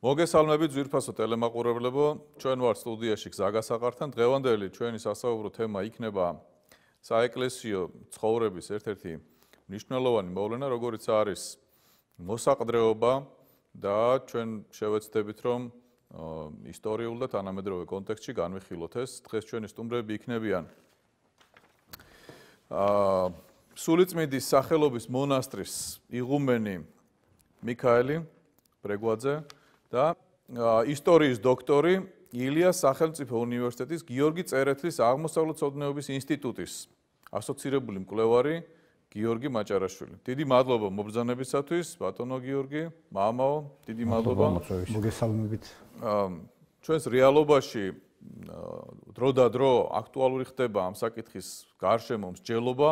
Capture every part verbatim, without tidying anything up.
მოგესალმებით ძვირფასო ტელემაყურებლებო, ჩვენ ვართ სტუდიაში გზა გასაყართან. დღევანდელი ჩვენი სასაუბრო თემა იქნება საეკლესიო ცხოვრების ერთ-ერთი მნიშვნელოვანი მოვლენა, როგორიც არის მოსაყდრეობა და ჩვენ შევეცდებით, რომ ისტორიულ და თანამედროვე კონტექსტში განვიხილოთ ეს. დღეს ჩვენი სტუმრები იქნებიან აა სულიწმიდის სახელობის მონასტრის იღუმენი მიქაელი ბრეგვაძე და ისტორიის დოქტორი ილიას სახელმწიფო უნივერსიტეტის გიორგი წერეთლის აღმოსავლეთმცოდნეობის ინსტიტუტის ასოცირებული მკვლევარი გიორგი მაჭარაშვილი. დიდი მადლობა მობრძანებისათვის, ბატონო გიორგი, მამაო, დიდი მადლობა. მოგესალმებით. ჩვენს რეალობაში დრო და დრო აქტუალური ხდება ამ საკითხის გარშემო მსჯელობა.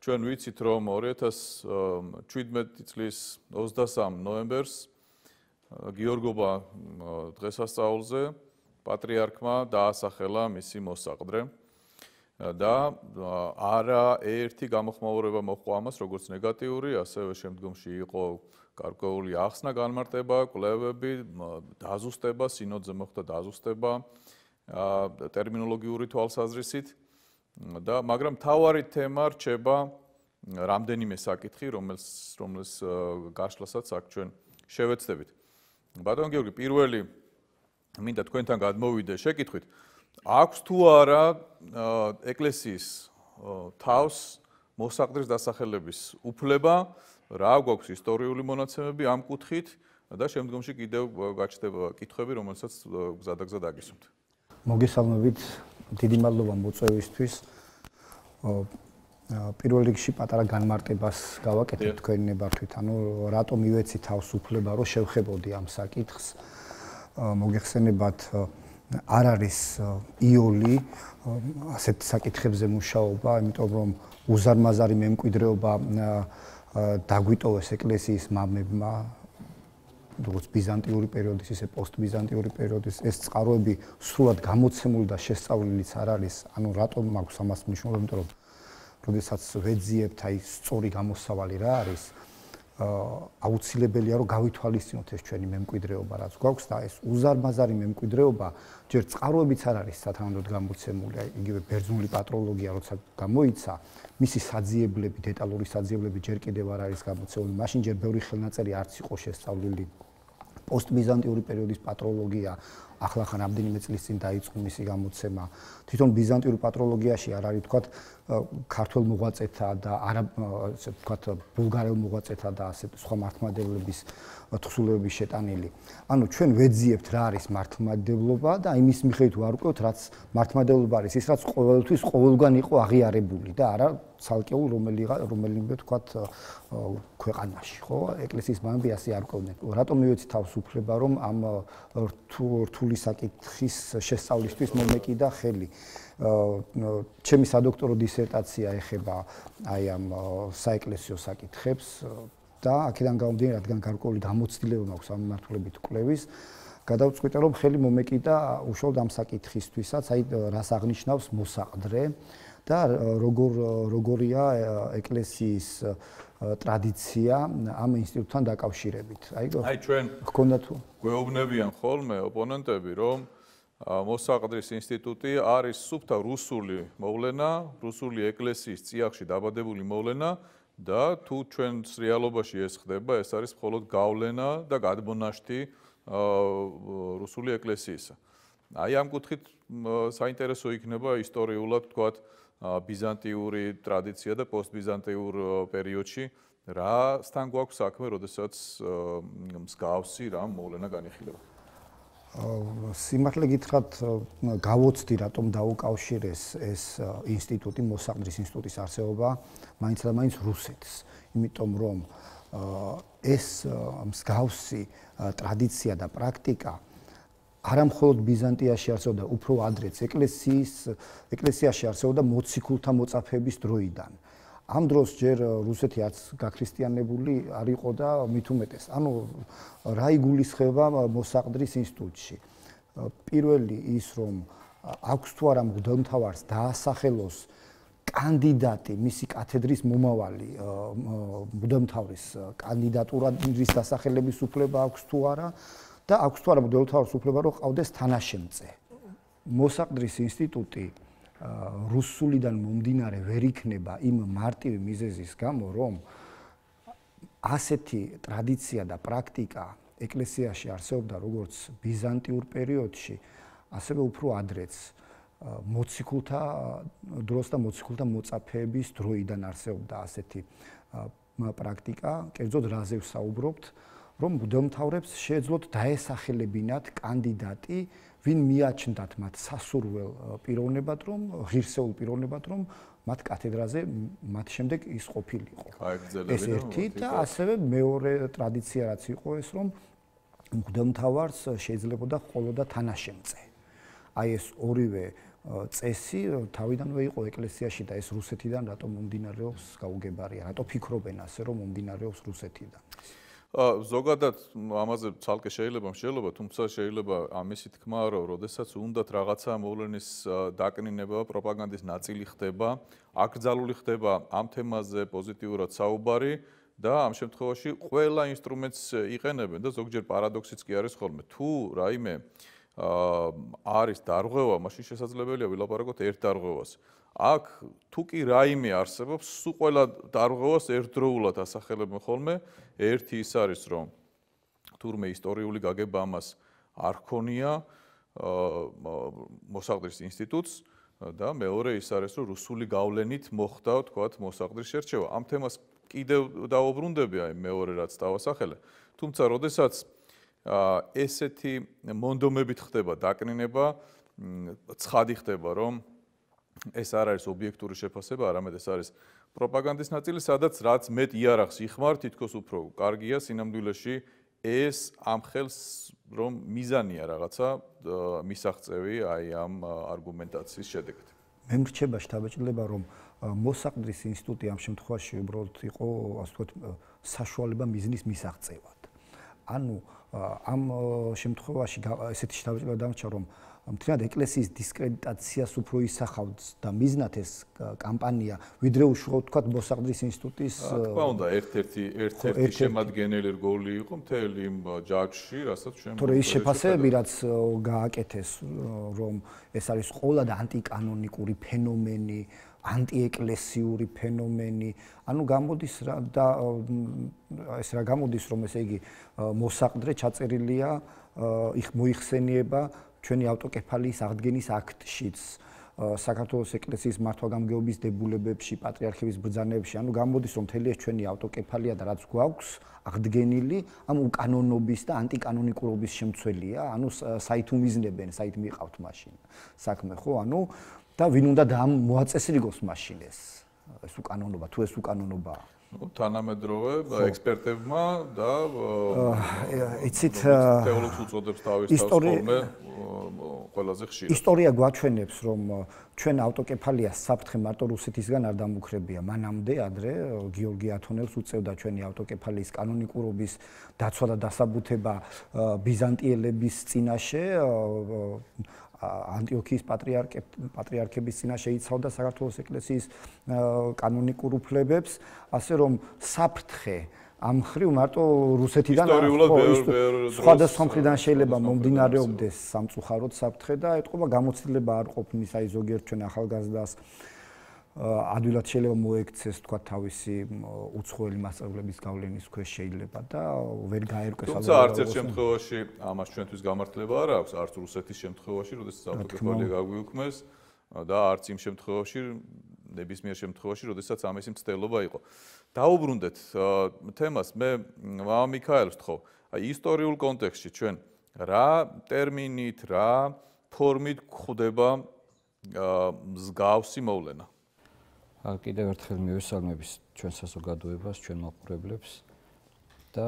ჩვენ ვიცით, რომ ორი ათას შვიდმეტი წლის ოცდასამ ნოემბერს გიორგობა დღესასწაულზე პატრიარქმა დაასახელა მისი მოსაყდრე და არა ერთი გამოხმაურება მოჰყვა ამას, როგორც ნეგატიური, ასევე შემდგომში იყო გარკვეული ახსნა, განმარტება, კვლევები, დაზუსტება, სინოდზე მოხდა დაზუსტება ტერმინოლოგიური თვალსაზრისით და მაგრამ მთავარი თემა რჩება რამდენიმე საკითხი, რომელს რომელს გაშლასაც აქ ჩვენ შევეცდებით. ბატონ გიორგი, პირველი მინდა თქვენთან გადმოვიდე შეკითხვით. აქვს თუ არა ეკლესიის თავს მოსაყდრის დასახელების უფლება, რა გვაქვს ისტორიული მონაცემები ამ კუთხით და შემდგომში კიდევ გაჩნდება კითხვები, რომელსაც გზადაგზად აგისურვებთ. მოგესალმებით, დიდი მადლობა მოწვევისთვის. პირველ რიგში პატარა განმარტებას გავაკეთებ თქვენი ნებართვით, ანუ რატომ ივეცი თავს უფლება, რომ შევხებოდი ამ საკითხს. მოგეხსენებათ, არ არის იოლი ასეთ საკითხებზე მუშაობა, იმიტომ რომ უზარმაზარი მემკვიდრეობა დაგვიტოვეს ეკლესიის მამებმა, როგორც ბიზანტიური პერიოდის, ისე პოსტბიზანტიური პერიოდის. ეს წყაროები სრულად გამოცემული და შესწავლილიც არ არის. ანუ რატომ მაქვს ამას მნიშვნელობა, იმიტომ რომ როდესაც ვეძიებთ აი სწორი გამოსავალი რა არის, აუცილებელია რომ გავითვალისწინოთ ეს ჩვენი მემკვიდრეობა, რაც გვაქვს და ეს უზარმაზარი მემკვიდრეობა ჯერ წყაროებიც არ არის სათანადოდ გამოცემული, აი იგივე ბერძნული პატროლოგია როცა გამოიცა, მისი საძიებლები, დეტალური საძიებლები ჯერ კიდევ არ არის გამოცემული. მაშინ ჯერ ბევრი ხელნაწერი არც იყო შესწავლილი. პოსტბიზანტიური პერიოდის პატროლოგია ახლახან რამდენიმე წლის წინ დაიწყო მისი გამოცემა. თვითონ ბიზანტიურ პატროლოგიაში არ არის თქვათ ქართულ მოღვაწეთა და არა ასე თქვათ ბულგარელ მოღვაწეთა და ასე სხვა მართლმადიდებლების თხზულებები შეტანილი. ანუ ჩვენ ვეძიებთ რა არის მართლმადიდებლობა და იმის მიხედვით ვარკვევთ რაც მართლმადიდებლობა არის ის რაც ყოველთვის ყოველგვარ იყო აღიარებული და არა ცალკეულ რომელიღა რომელიმე თქვათ ქვეყანაში, ხო? ეკლესიის მამები ასე არ ყვევდნენ. რატომ მივეცი თავს უფლება რომ ამ რთული საკითხის შესწავლისთვის მომეკიდა ხელი. ჩემი სადოქტორო დისერტაცია ეხება აი ამ საეკლესიო საკითხებს და აქედან გამომდინარე, რადგან გარკვეული გამოცდილება მაქვს ამ მიმართულებით კვლევის, გადავწყვიტე რომ ხელი მომეკიდა უშუალოდ ამ საკითხისთვისაც, აი რას აღნიშნავს მოსაყდრე და როგორ როგორია ეკლესიის ტრადიცია ამ ინსტიტუტთან დაკავშირებით. აი აი ჩვენ გქონდა თუ გვეუბნებიან ხოლმე ოპონენტები, რომ მოსაყდრის ინსტიტუტი არის სუფთა რუსული მოვლენა, რუსული ეკლესიის წიაღში დაბადებული მოვლენა და თუ ჩვენს რეალობაში ეს ხდება, ეს არის მხოლოდ გავლენა და გადმონაშთი რუსული ეკლესიისა. აი ამ კუთხით საინტერესო იქნება ისტორიულად თქვათ ბიზანტიური ტრადიცია და პოსტბიზანტიურ პერიოდში რასთან გვაქვს საქმე, როდესაც მსგავსი რამ მოვლენა განიხილება. სიმართლე გითხრათ, გავოცდი რატომ დაუკავშირეს ეს ინსტიტუტი, მოსაყდრის ინსტიტუტის არსებობა, მაინც და მაინც რუსეთს, იმიტომ რომ ეს მსგავსი ტრადიცია და პრაქტიკა არა მხოლოდ ბიზანტიაში არსებობდა, უფრო ადრეც ეკლესიის ეკლესიაში არსებობდა მოციქულთა მოწაფეების დროიდან. ამ დროს ჯერ რუსეთი არც გაქრისტიანებული არ იყო და მით უმეტეს. ანუ რა იგულისხმება მოსაყდრის ინსტიტუტში? პირველი ის რომ აქვს თუ არა მღვდელმთავარს დაასახელოს კანდიდატი, მისი კათედრის მომავალი მღვდელმთავრის კანდიდატურის დასახელების უფლება აქვს თუ არა და აქვს თუ არა მღვდელმთავრის უფლება რომ ყავდეს თანაშემწე. მოსაყდრის ინსტიტუტი რუსულიდან მომდინარე ვერ იქნება იმ მარტივი მიზეზის გამო, რომ ასეთი ტრადიცია და პრაქტიკა ეკლესიაში არსებობდა როგორც ბიზანტიურ პერიოდში, ასევე უფრო ადრეც მოციქულთა დროს და მოციქულთა მოწაფეების დროიდან არსებობდა ასეთი პრაქტიკა. კერძოდ რაზე ვსაუბრობთ, რომ მღვდელმთავრებს შეეძლოთ დაესახელებინათ კანდიდატი, ვინ მიაჩნდათ მათ სასურველ პიროვნებად, რომ ღირსეულ პიროვნებად, რომ მათ კათედრაზე მათ შემდეგ ის ყოფილიყო. ეს ერთი და ასევე მეორე ტრადიცია რაც იყო ეს, რომ მღვდელმთავარს შეიძლებოდა ყოლოდა თანაშემწე. აი ეს ორივე წესი თავიდანვე იყო ეკლესიაში და ეს რუსეთიდან რატომ მომდინარეობს გაუგებარია, რატო ფიქრობენ ასე რომ მომდინარეობს რუსეთიდან. ზოგადად ამაზე ცალკე შეიძლება მსჯელობა, თუმცა შეიძლება ამისი თქმა, რომ როდესაც უნდათ რაღაცა მოვლენის დაკნინება, პროპაგანდის ნაწილი ხდება, აკრძალული ხდება ამ თემაზე პოზიტიურად საუბარი და ამ შემთხვევაში ყველა ინსტრუმენტს იყენებენ და ზოგჯერ პარადოქსიც კი არის ხოლმე. თუ რაიმე არის დარღვევა, მაშინ შესაძლებელია ვილაპარაკოთ ერთ დარღვევას. აქ თუ კი რაიმე არსებობს, სულ ყველა დარღვევას ერთდროულად ასახელებენ ხოლმე. ერთი ის არის, რომ თურმე ისტორიული გაგება ამას არ ჰქონია მოსაყდრის ინსტიტუტს და მეორე ის არის, რომ რუსული გავლენით მოხდა, თქვათ, მოსაყდრის შერჩევა. ამ თემას კიდევ დავუბრუნდები, აი მეორე რაც დავასახელე. თუმცა, როდესაც ესეთი მონდომებით ხდება დაკნინება, ცხადი ხდება, რომ ეს არ არის ობიექტური შეფასება, არამედ ეს არის პროპაგანდის ნაწილი, სადაც რაც მეტ იარაღს იხმარ, თითქოს უფრო კარგია სინამდვილეში ეს ამ ხელს რომ მიზანია რაღაცა მისაღწევი აი ამ არგუმენტაციის შედეგად. მე მრჩება შთაბეჭდილება, რომ მოსაყდრის ინსტიტუტი ამ შემთხვევაში უბრალოდ იყო, ასე ვთქვათ, საშუალება მიზნის მისაღწევად. ანუ ამ შემთხვევაში ესეთი შთაბეჭდილება დამრჩა, რომ მთლიანად ეკლესიის დისკრედიტაციას უფრო ისახავს და მიზნად ეს კამპანია, ვიდრე უშუალოდ თქვათ მოსაყდრის ინსტიტუტის თქმა უნდა, ერთ-ერთი ერთ-ერთი შემადგენელი რგოლი იყო მთელი იმ ჯაჭვში, რასაც ჩვენ თორე ის შეფასებები, რაც გააკეთეს, რომ ეს არის ყოლა და ანტიკანონიკური ფენომენი, ანტიეკლესიური ფენომენი, ანუ გამოდის რა და ეს რა გამოდის, რომ ესე იგი მოსაყდრე ჩაწერილია, მოიხსენიება ჩვენი ავტოკეფალიის აღდგენის აქტშიც, საქართველოს ეკლესიის მართვა-გამგეობის დებულებებში, პატრიარქების ბრძანებებში, ანუ გამოდის, რომ მთელი ეს ჩვენი ავტოკეფალია და რაც გვაქვს აღდგენილი, ამ უკანონობის და ანტიკანონიკურობის შემცველია, ანუ საით უმიზნებენ, საით მიყავთ მაშინ საქმე, ხო? ანუ და ვინ უნდა მოაწესრიგოს მაშინ ეს ეს უკანონობა, თუ ეს უკანონობაა. თანამედროვე ექსპერტებმა და იცით თეოლოგს უწოდებს თავის თავს ხოლმე ყველაზე ხშირად. ისტორია გვაჩვენებს, რომ ჩვენ ავტოკეფალიას საფრთხე მარტო რუსეთისგან არ დამუქრებია. მანამდე ადრე გიორგი ათონელს უწევდა ჩვენი ავტოკეფალიის კანონიკურობის დაცვა და დასაბუთება ბიზანტიელების წინაშე, ანტიოქიის პატრიარქების წინაშე იცავდა საქართველოს ეკლესიის კანონიკურ უფლებებს, ასე რომ საფრთხე ამ მხრივ მარტო რუსეთიდან სხვადასხვა მხრიდან შეიძლება მომდინარეობდეს სამწუხაროდ საფრთხე და ეთყობა გამოცდილება არ ყოფნის, აი ზოგიერთ ჩვენ ახალგაზრდას ადვილად შეიძლება მოექცეს თქვა თავისი უცხოელი მასწავლებლების გავლენის ქვეშ შეიძლება და ვერ გაერკვეს თუმცა არც ერთ შემთხვევაში ამას ჩვენთვის გამართლება არ აქვს, არც რუსეთის შემთხვევაში, როდესაც ავტოკეფალია გაგვიუქმეს და არც იმ შემთხვევაში, ნებისმიერ შემთხვევაში, როდესაც ამისი მცდელობა იყო. დაუბრუნდეთ თემას, მე მამა მიქაელს ვთხოვ, აი ისტორიულ კონტექსტში ჩვენ რა ტერმინით, რა ფორმით გვხვდება მსგავსი მოვლენა? კიდევ ერთხელ მივესალმების ჩვენ საზოგადოებას, ჩვენ მაყურებლებს და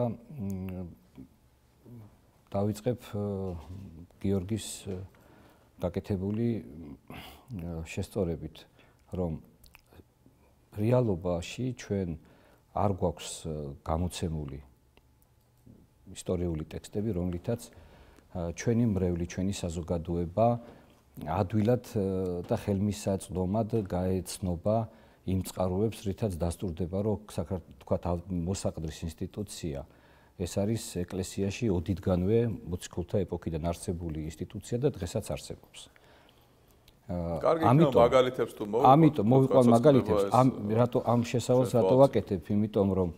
დავიწყებ გიორგის გაკეთებული შესწორებით, რომ რეალობაში ჩვენ არ გვაქვს გამოცემული ისტორიული ტექსტები, რომლითაც ჩვენი მრევლი, ჩვენი საზოგადოება ადვილად და ხელმისაწვდომად გაეცნობა იმ წყაროებს, რითაც დასტურდება, რომ თქვათ მოსაყდრის ინსტიტუცია ეს არის ეკლესიაში ოდითგანვე მოციქულთა ეპოქიდან არსებული ინსტიტუცია და დღესაც არსებობს. კარგი, იქნება მაგალითებს თუ მოვიყვანთ. ამიტომ მოვიყვანთ მაგალითებს. ამ რატო ამ შესავალს რატო ვაკეთებ? იმიტომ რომ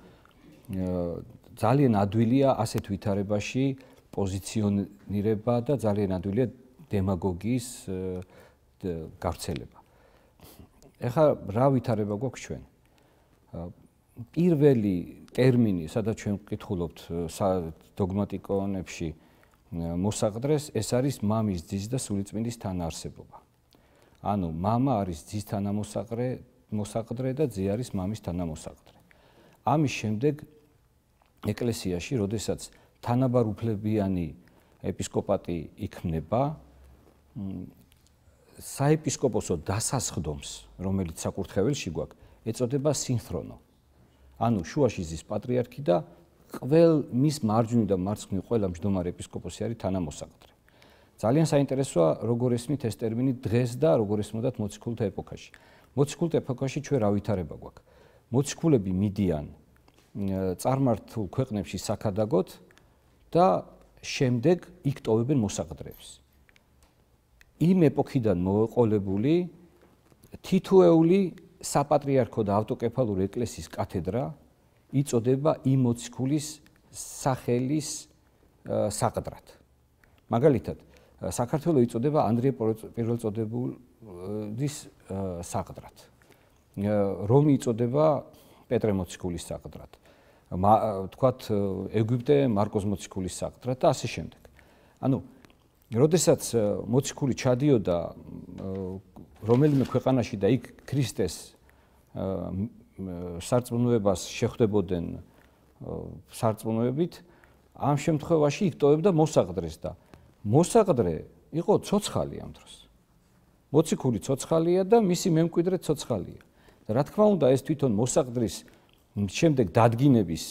ძალიან ადვილია ასეთ ვითარებაში პოზიციონირება და ძალიან ადვილია დემაგოგიის გავრცელება. ეხლა რა ვითარება გვაქვს ჩვენ? პირველი ტერმინი, სადაც ჩვენ ვკითხულობთ დოგმატიკონებში მოსაყდრეს, ეს არის მამის, ძის და სულიწმინდის თანაარსებობა. ანუ მამა არის ძის თანამოსაყდრე, მოსაყდრე და ძე არის მამის თანამოსაყდრე. ამის შემდეგ ეკლესიაში, როდესაც თანაბარუფლებიანი ეპისკოპატი იქმნება, საეპისკოპოსო დასასხდომს, რომელიც საკურთხეველში გვაქვს, ეწოდება სინხრონო. ანუ შუაში ზის პატრიარქი და ყველ მის მარჯვნივ და მარცხნივ ყველა მჯდომარე ეპისკოპოსი არის თანამოსაყდრე. ძალიან საინტერესოა, როგორ ესმით ეს ტერმინი დღეს და როგორ ესმოდათ მოციქულთა ეპოქაში. მოციქულთა ეპოქაში ჩვენ რა ვითარება გვაქვს? მოციქულები მიდიან წარმართულ ქვეყნებში საქადაგოდ და შემდეგ იქ ტოვებენ მოსაყდრეებს. იმ ეპოქიდან მოყოლებული თითოეული საპატრიარქო და ავტოკეფალური ეკლესიის კათედრა იწოდება იმ მოციქულის სახელის საყდრად. მაგალითად, საქართველოს იწოდება ანდრია პირველწოდებულის საყდრად. რომი იწოდება პეტრე მოციქულის საყდრად. თქვათ ეგვიპტე მარკოზ მოციქულის საყდრად და ასე შემდეგ. ანუ როდესაც მოციქული ჩადიოდა რომელიმე ქვეყანაში და იქ ქრისტეს სარწმუნოებას შეხვდებოდნენ სარწმუნოებით, ამ შემთხვევაში იქ ტოვებდა მოსაყდრეს და მოსაყდრე იყო ცოცხალი ამ დროს. მოციქული ცოცხალია და მისი მემკვიდრე ცოცხალია. რა თქმა უნდა, ეს თვითონ მოსაყდრის შემდეგ დადგინების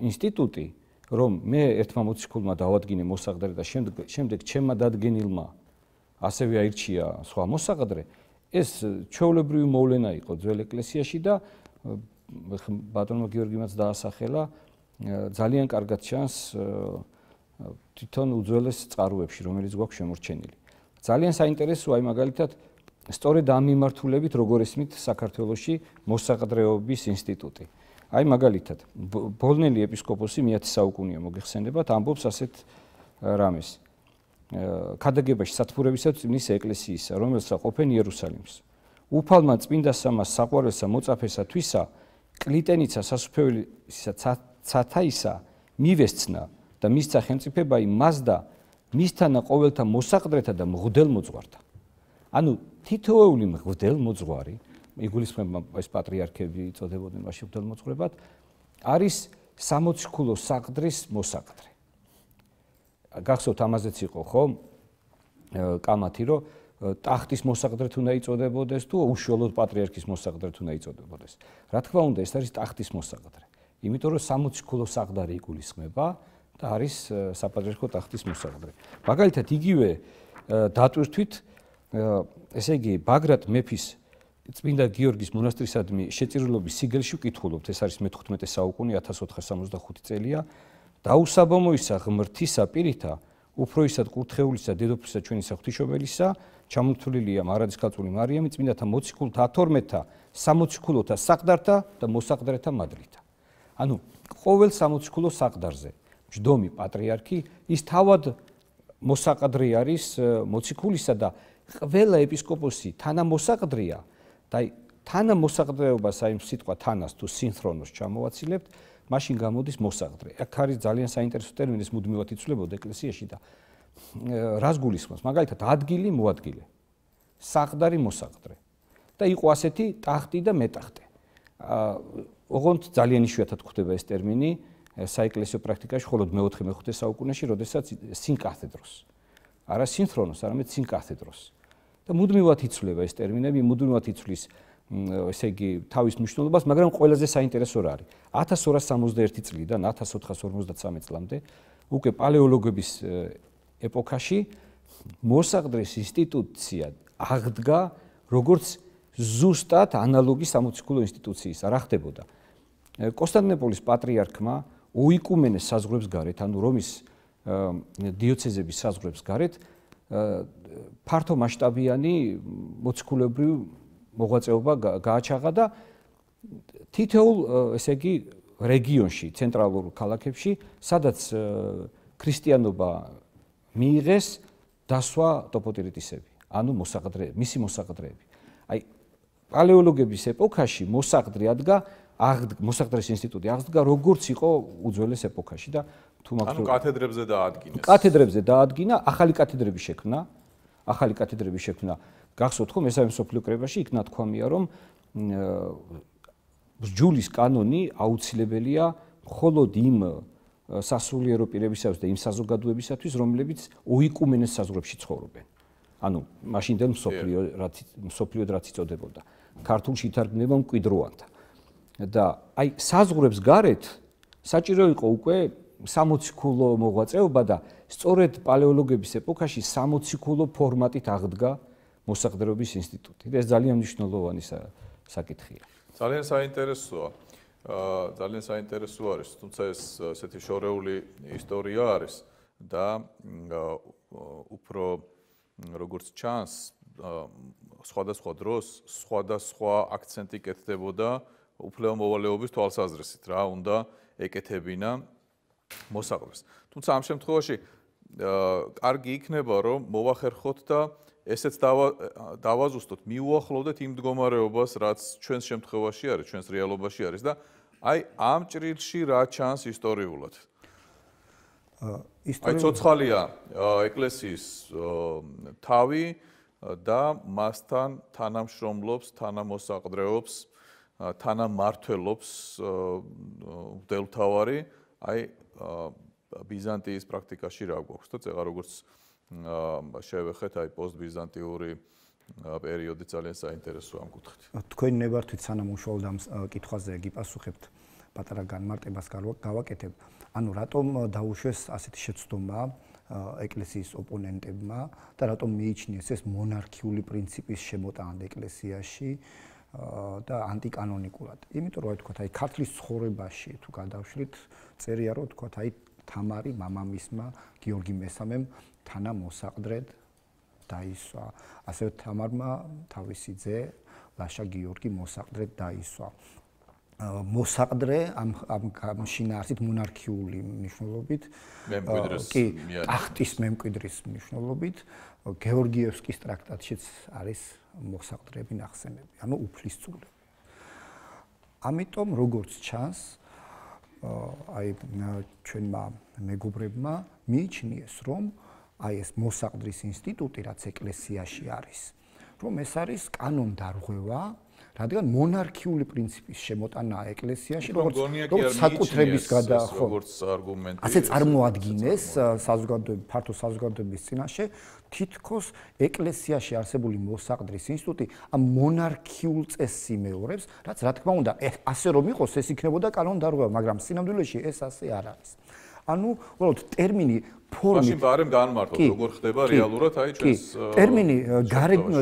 ინსტიტუტი, რომ მე ერთმა მოციქულმა დავადგინე მოსაყდრე და შემდეგ შემდეგ ჩემმა დადგენილმა ასევე აირჩია სხვა მოსაყდრე, ეს ჩვეულებრივი მოვლენა იყო ძველ ეკლესიაში და ბატონმა გიორგიმაც დაასახელა, ძალიან კარგად ჩანს თვითონ უძველეს წყაროებში, რომელიც გვაქვს შემორჩენილი. ძალიან საინტერესოა აი მაგალითად სწორედ ამ მიმართულებით როგორ ესმით საქართველოში მოსაყდრეობის ინსტიტუტი. აი მაგალითად ბოლნელი ეპისკოპოსი მეათე საუკუნეა მოგეხსენებათ, ამბობს ასეთ რამეს. ქადაგებაში სათბურებისათვის წმინდის ეკლესიისა, რომელსაც ყოფენ იერუსალიმს. უფალმა წმინდა სამას საყვარელსა მოწაფესა თვისა, კლიტენიცა სასუფეველისა ცათაისა მივესცნა და მისცა ხელმწიფება იმას და მისთანა ყოველთა მოსაყდრეთა და მღვდელმოძღვართა. ანუ თითოეული მღვდელმოძღვარი, იგულისხმება ეს პატრიარქები იწოდებოდნენ მაშინ მღვდელმოძღვრებად, არის სამოციქულო საყდრის მოსაყდრე. გახსოვთ ამაზეც იყო ხო კამათი, რომ ტახტის მოსაყდრეთ უნდა იწოდებოდეს თუ უშუალოდ პატრიარქის მოსაყდრეთ უნდა იწოდებოდეს. რა თქმა უნდა, ეს არის ტახტის მოსაყდრე. იმიტომ რომ სამოციქულო საყდარი იგულისხმება და არის საპატრიარქო ტახტის მოსაყდრე. მაგალითად, იგივე დატვირთვით, ესე იგი, ბაგრატ მეფის წმინდა გიორგის მონასტრისადმი შეწირულობის სიგელში ვკითხულობთ, ეს არის მეთოთხმეტე საუკუნე, ათას ოთხას სამოცდახუთი წელია. დაუსაბამოისა ღმრთისა პირითა, უფროისად კურთხეულისა დედოფლისა ჩვენისა ღვთისმშობელისა, ჩამოთვლილია მარადისკაცული მარიამი წმინდათა მოციქულთა ათორმეტთა სამოციქულოთა საყდართა და მოსაყდრეთა მადრითა. ანუ ყოველ სამოციქულო საყდარზე მჯდომი პატრიარქი ის თავად მოსაყდრი არის მოციქულისა და ყველა ეპისკოპოსი თანამოსაყდრია და თანამოსაყდრეობას აი სიტყვა თანას თუ სინხრონოს ჩამოვაცილებთ, მაშინ გამოდის მოსაყდრე. აქ არის ძალიან საინტერესო ტერმინი, ეს მუდმივად იცვლებოდა ეკლესიაში და რას გულისხმობს? მაგალითად, ადგილი მოადგილე, საყდარი მოსაყდრე და იყო ასეთი ტახტი და მეტახტე. ოღონდ ძალიან იშვიათად გვხვდება ეს ტერმინი საეკლესიო პრაქტიკაში, მხოლოდ მეოთხე მეხუთე საუკუნეში, როდესაც სინკათედროს. არა სინხრონოს, არამედ სინკათედროს. და მუდმივად იცვლება ეს ტერმინები, მუდმივად იცვლის ესე იგი თავის მნიშვნელობას, მაგრამ ყველაზე საინტერესო რა არის? ათას ორას სამოცდაერთი წლიდან ათას ოთხას ორმოცდათსამეტ წლამდე უკვე პალეოლოგების ეპოქაში მოსაყდრის ინსტიტუცია აღდგა როგორც ზუსტად ანალოგი სამოციქულო ინსტიტუციისა. რა ხდებოდა? კონსტანტინოპოლის პატრიარქმა უიკუმენეს საზღვრებს გარეთ, ანუ რომის დიოცეზების საზღვრებს გარეთ ფართო მასშტაბიანი მოციქულებრივი მოღვაწეობა გააჩაღა და თითოეულ ესე იგი რეგიონში, ცენტრალურ ქალაქებში, სადაც ქრისტიანობა მიიღეს დასვა ტოპოტირიტისები, ანუ მოსაყდრე, მისი მოსაყდრეები. აი პალეოლოგების ეპოქაში მოსაყდრე ადგა, მოსაყდრეს ინსტიტუტი აღდგა როგორც იყო უძველეს ეპოქაში და თუ მაგ ანუ კათედრებზე დაადგინეს. კათედრებზე დაადგინა, ახალი კათედრები შექმნა, ახალი კათედრები შექმნა. გახსოვთ ხო მესამე მსოფლიო კრებაში იქ ნათქვამია რომ ბრძოლის კანონი აუცილებელია მხოლოდ იმ სასულიერო პირებისათვის და იმ საზოგადოებისათვის, რომლებიც ოიკუმენეს საზღვრებში ცხოვრობენ. ანუ მაშინდელ მსოფლიო რაც მსოფლიოდ რაც იწოდებოდა. ქართულში ითარგმნება მკვიდროვანთა. და აი საზღვრებს გარეთ საჭირო იყო უკვე სამოციქულო მოღვაწეობა და სწორედ პალეოლოგების ეპოქაში სამოციქულო ფორმატით აღდგა მოსაყდრეობის ინსტიტუტი. ეს ძალიან მნიშვნელოვანი საკითხია. ძალიან საინტერესოა. ძალიან საინტერესო არის, თუმცა ეს ესეთი შორეული ისტორია არის და უფრო როგორც ჩანს სხვადასხვა დროს სხვადასხვა აქცენტი კეთდებოდა უფლება მოვალეობის თვალსაზრისით, რა უნდა ეკეთებინა მოსაყდრეს. თუმცა ამ შემთხვევაში კარგი იქნება რომ მოვახერხოთ და ესეც დავაზუსტოთ, მიუახლოვდეთ იმ მდგომარეობას, რაც ჩვენს შემთხვევაში არის, ჩვენს რეალობაში არის და აი ამ ჭრილში რა ჩანს ისტორიულად. აი ცოცხალია ეკლესიის თავი და მასთან თანამშრომლობს, თანამოსაყდრეობს, თანამმართველობს მღვდელმთავარი, აი ბიზანტიის პრაქტიკაში რა გვაქვს და წეღა როგორც შევეხეთ აი პოსტბიზანტიური პერიოდი ძალიან საინტერესოა ამ კუთხით. თქვენ ნებართვით სანამ უშუალოდ ამ კითხვაზე გიპასუხებთ, პატარა განმარტებას გავაკეთებ. ანუ რატომ დაუშვეს ასეთი შეცდომა ეკლესიის ოპონენტებმა და რატომ მიიჩნიეს ეს მონარქიული პრინციპის შემოტანა ეკლესიაში და ანტიკანონიკურად. იმიტომ რომ აი თქვა აი ქართლის ცხოვრებაში თუ გადავშლით, წერია რომ თქვა აი თამარი მამამისმა გიორგი მესამემ თანამოსაყდრედ დაისვა. ასევე თამარმა თავისი ძე ლაშა გიორგი მოსაყდრედ დაისვა. მოსაყდრე ამ ამ შინაარსით მონარქიული მნიშვნელობით, კი, ტახტის მემკვიდრის მნიშვნელობით, გეორგიევსკის ტრაქტატშიც არის მოსაყდრეები ნახსენები, ანუ უფლისწულები. ამიტომ როგორც ჩანს, აი ჩვენმა მეგობრებმა მიიჩნიეს, რომ აი ეს მოსაყდრის ინსტიტუტი, რაც ეკლესიაში არის, რომ ეს არის კანონდარღვევა, რადგან მონარქიული პრინციპის შემოტანაა ეკლესიაში, როგორც როგორც საკუთრების გადა, ხო, როგორც არგუმენტი. ასე წარმოადგინეს საზოგადოების, ფართო საზოგადოების წინაშე, თითქოს ეკლესიაში არსებული მოსაყდრის ინსტიტუტი ამ მონარქიულ წესს იმეორებს, რაც რა თქმა უნდა, ასე რომ იყოს, ეს იქნებოდა კანონდარღვევა, მაგრამ სინამდვილეში ეს ასე არ არის. ანუ, უბრალოდ ტერმინი ფორმით მაშინ ბარემ განმარტოთ, როგორ ხდება რეალურად აი ჩვენს ტერმინი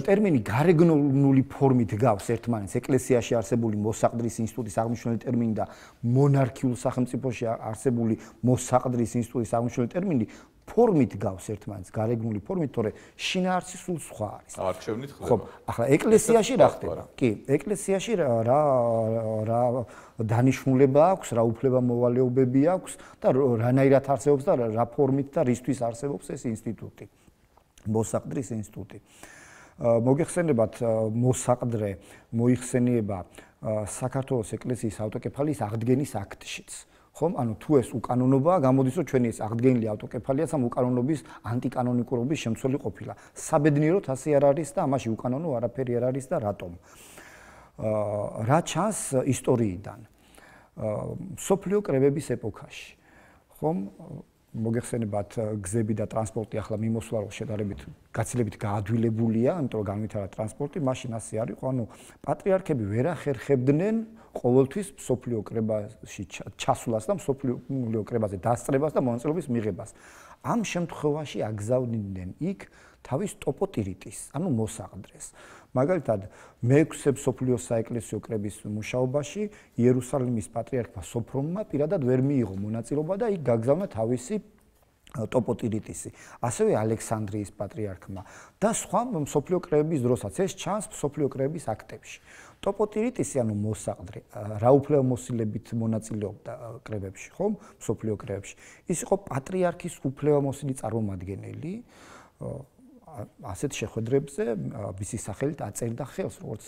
ტერმინი გარეგნული ფორმით გავს ერთმანეთს ეკლესიაში არსებული მოსაყდრის ინსტიტუტის აღნიშნული ტერმინი და მონარქიულ სახელმწიფოში არსებული მოსაყდრის ინსტიტუტის აღნიშნული ტერმინი ფორმით გავს ერთმანეთს გარეგნული ფორმით, თორე შინაარსი სულ სხვა არის. არჩევნით ხდება. ხო, ახლა ეკლესიაში რა ხდება? კი, ეკლესიაში რა რა დანიშნულება აქვს, რა უფლება მოვალეობები აქვს და რანაირად არსებობს და რა ფორმით და რისთვის არსებობს ეს ინსტიტუტი. მოსაყდრის ინსტიტუტი. მოგეხსენებათ, მოსაყდრე მოიხსენიება საქართველოს ეკლესიის ავტოკეფალიის აღდგენის აქტშიც. ხომ, ანუ თუ ეს უკანონობაა, გამოდის რომ ჩვენი ეს აღდგენილი ავტოკეფალიაც ამ უკანონობის ანტიკანონიკურობის შემცველი ყოფილა. საბედნიეროდ ასე არ არის და ამაში უკანონო არაფერი არ არის და რატომ? რა ჩანს ისტორიიდან? სოფლიო კრებების ეპოქაში. ხომ, მოგეხსენებათ გზები და ტრანსპორტი ახლა მიმოსვლა რო შედარებით გაცილებით გაადვილებულია, იმიტომ რომ განვითარა ტრანსპორტი, მაშინ ასე არ იყო, ანუ პატრიარქები ვერ ახერხებდნენ ყოველთვის სოფლიო კრებაში ჩასვლას და სოფლიო კრებაზე დასწრებას და მონაწილეობის მიღებას. ამ შემთხვევაში აგზავნიდნენ იქ თავის ტოპოტირიტის, ანუ მოსაყდრეს. მაგალითად, მეექვსე მსოფლიო საეკლესიო კრების მუშაობაში იერუსალიმის პატრიარქმა სოფრონმა პირადად ვერ მიიღო მონაწილეობა და იქ გაგზავნა თავისი ტოპოტირიტისი. ასევე ალექსანდრიის პატრიარქმა და სხვა მსოფლიო კრების დროსაც ეს ჩანს მსოფლიო კრების აქტებში. ტოპოტირიტისი, ანუ მოსაყდრე, რა უფლებამოსილებით მონაწილეობდა კრებებში, ხომ? მსოფლიო კრებებში. ის იყო პატრიარქის უფლებამოსილი წარმომადგენელი. ასეთ შეხვედრებზე მისი სახელით აწერდა ხელს, როგორც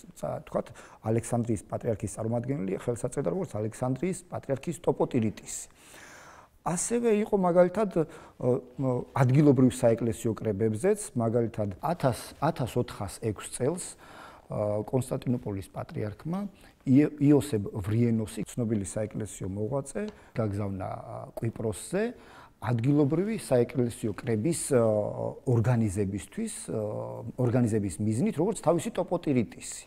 თქვათ, ალექსანდრიის პატრიარქის წარმომადგენელი ხელს აწერდა როგორც ალექსანდრიის პატრიარქის ტოპოტირიტისი. ასევე იყო მაგალითად ადგილობრივ საეკლესიო კრებებზეც, მაგალითად ათას ოთხას ექვს წელს კონსტანტინოპოლის პატრიარქმა იოსებ ვრიენოსი, ცნობილი საეკლესიო მოღვაწე, გაგზავნა კვიპროსზე ადგილობრივი საეკლესიო კრების ორგანიზებისთვის, ორგანიზების მიზნით, როგორც თავისი ტოპოტირიტისი.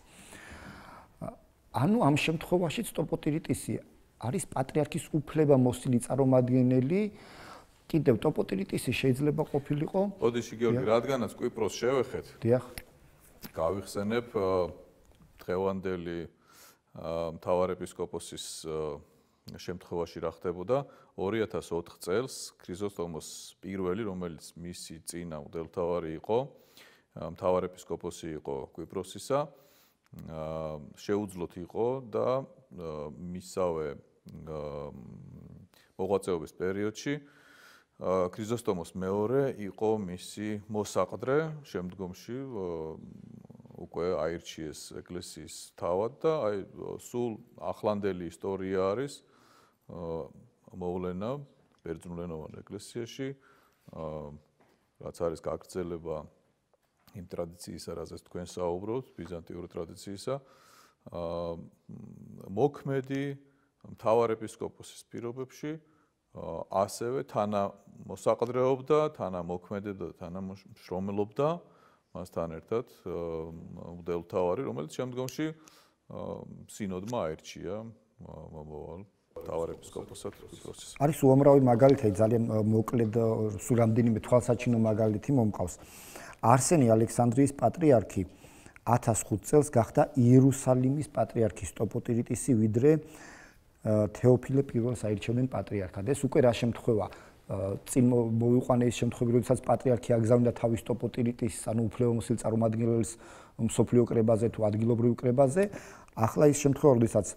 ანუ ამ შემთხვევაშიც ტოპოტირიტისი არის პატრიარქის უფლებამოსილი წარმომადგენელი. კიდევ ტოპოტირიტისი შეიძლება ყოფილიყო. ოდიში გიორგი, რადგანაც კვიპროს შევეხეთ. დიახ. გავიხსენებ დღევანდელი მთავარეპისკოპოსის შემთხვევაში რა ხდებოდა. ორი ათას ოთხ წელს ქრიზოსტომოს პირველი, რომელიც მისი წინა მღვდელმთავარი იყო, მთავარეპისკოპოსი იყო კვიპროსისა, შეუძლოთ იყო და მისავე მოღვაწეობის პერიოდში ქრიზოსტომოს მეორე იყო მისი მოსაყდრე, შემდგომში უკვე აირჩიეს ეკლესიის თავად და აი სულ ახლანდელი ისტორია არის მოვლენა ბერძნულენოვან ეკლესიაში, რაც არის გაგრძელება იმ ტრადიციისა, რაზეც თქვენ საუბრობთ, ბიზანტიური ტრადიციისა, მოქმედი მთავარეპისკოპოსის პირობებში ასევე თანამოსაყდრეობდა, თანამოქმედებდა, თანამშრომლობდა მასთან ერთად მღვდელმთავარი, რომელიც შემდგომში სინოდმა აირჩია მომავალ მთავარეპისკოპოსად კვიპროსის. არის უამრავი მაგალითი, ძალიან მოკლედ სულ რამდენიმე თვალსაჩინო მაგალითი მომყავს. არსენი ალექსანდრიის პატრიარქი ათას ხუთ წელს გახდა იერუსალიმის პატრიარქის ტოპოტირიტისი, ვიდრე თეოფილე პირველს აირჩევდნენ პატრიარქად. ეს უკვე რა შემთხვევა? წინ მოვიყვანე ის შემთხვევები, როდესაც პატრიარქი აგზავნდა თავის ტოპოტირიტის, ანუ უფლებამოსილ წარმომადგენელს მსოფლიო კრებაზე თუ ადგილობრივ კრებაზე. ახლა ის შემთხვევა, როდესაც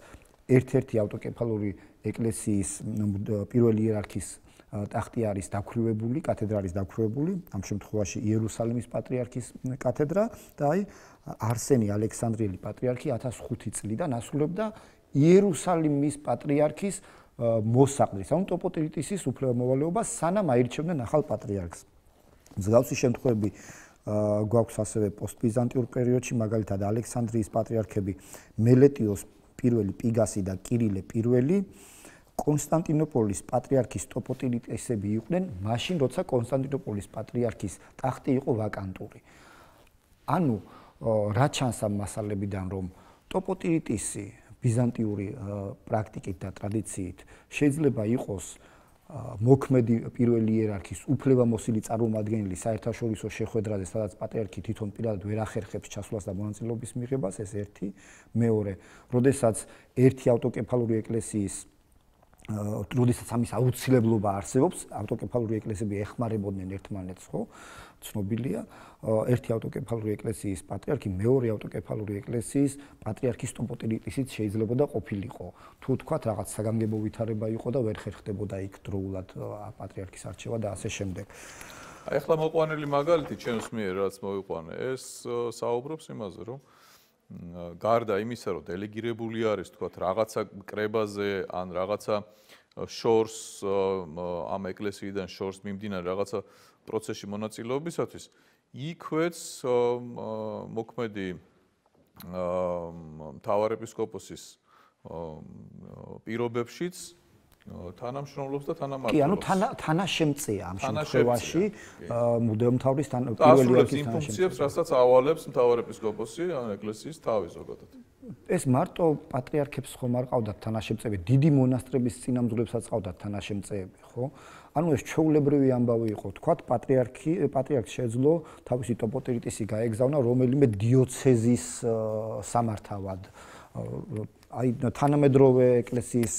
ერთ-ერთი ავტოკეფალური ეკლესიის პირველი იერარქის ტახტი არის დაქვრივებული, კათედრა არის დაქვრივებული, ამ შემთხვევაში იერუსალიმის პატრიარქის კათედრა და აი არსენი ალექსანდრიელი პატრიარქი ათას ხუთი წლიდან ასრულებდა იერუსალიმის პატრიარქის მოსაყდრის, ანუ ტოპოტირიტისის უფლებამოვალეობას, სანამ აირჩევდნენ ახალ პატრიარქს. მსგავსი შემთხვევები გვაქვს ასევე პოსტბიზანტიურ პერიოდში, მაგალითად ალექსანდრიის პატრიარქები მელეტიოს პირველი, პიგასი და კირილე პირველი კონსტანტინოპოლის პატრიარქის ტოპოტირიტისები იყვნენ, მაშინ როცა კონსტანტინოპოლის პატრიარქის ტახტი იყო ვაკანტური. ანუ რა ჩანს ამ მასალებიდან, რომ ტოპოტირიტისი ბიზანტიური პრაქტიკით და ტრადიციით შეიძლება იყოს მოქმედი პირველი იერარქის უფლებამოსილი წარმომადგენელი საერთაშორისო შეხვედრაზე, სადაც პატრიარქი თვითონ პირადად ვერ ახერხებს ჩასვლას და მონაწილეობის მიღებას, ეს ერთი. მეორე, როდესაც ერთი ავტოკეფალური ეკლესიის როდესაც ამის აუცილებლობა არსებობს, ავტოკეფალური ეკლესიები ეხმარებოდნენ ერთმანეთს, ხო? ცნობილია, ერთი ავტოკეფალური ეკლესიის პატრიარქი მეორე ავტოკეფალური ეკლესიის პატრიარქის ტოპოტირიტისით შეიძლებოდა ყოფილიყო. თუ თქვათ რაღაც საგანგებო ვითარება იყო და ვერ ხერხდებოდა იქ დროულად პატრიარქის არჩევა და ასე შემდეგ. აი ახლა მოყვანილი მაგალითი ჩემს მიერ რაც მოვიყვანე, ეს საუბრობს იმაზე, რომ გარდა იმისა, რომ დელეგირებული არის, თქვათ, რაღაცა კრებაზე ან რაღაცა შორს ამ ეკლესიიდან შორს მიმდინარე რაღაცა პროცესში მონაწილეობისათვის, იქვეც მოქმედი მთავარეპისკოპოსის პირობებშიც თანამშრომლობს და თანამმართველობს. კი, ანუ თანაშემწეა ამ შემთხვევაში მუდეომთავრის პირველი არქის ფუნქციებს, რასაც ავალებს მთავარეპისკოპოსი ან ეკლესიის თავი ზოგადად. ეს მარტო პატრიარქებს ხომ არ ყავდათ თანაშემწეები, დიდი მონასტრების წინამძღვრებსაც ყავდათ თანაშემწეები, ხო? ანუ ეს ჩვეულებრივი ამბავი იყო, თქვათ პატრიარქი, პატრიარქს შეძლო თავისი ტოპოტირიტისი გაეგზავნა რომელიმე დიოცეზის სამართავად. აი თანამედროვე ეკლესიის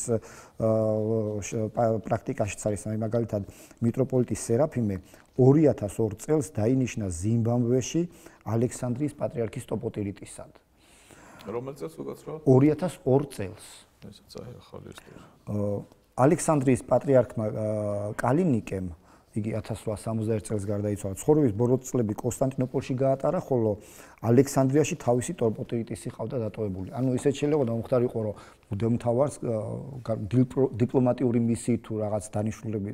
პრაქტიკაშიც არის, აი მაგალითად მიტროპოლიტი სერაფიმე ორი ათას ორ წელს დაინიშნა ზიმბაბვეში ალექსანდრიის პატრიარქის ტოპოტირიტისად. რომელ წელს უკაცრავ? ორი ათას ორ წელს. ესაც აი ახალი ისტორია. ალექსანდრიის პატრიარქმა კალინიკემ იგი ათას რვაას სამოცდაერთ წელს გარდაიცვალა. ცხოვრების ბოლო წლები კონსტანტინოპოლში გაატარა, ხოლო ალექსანდრიაში თავისი ტოპოტირიტისი ყავდა დატოვებული. ანუ ისეთ შეიძლება მომხდარ იყო, რომ მუდეომთავარს დიპლომატიური მისიით თუ რაღაც დანიშნულები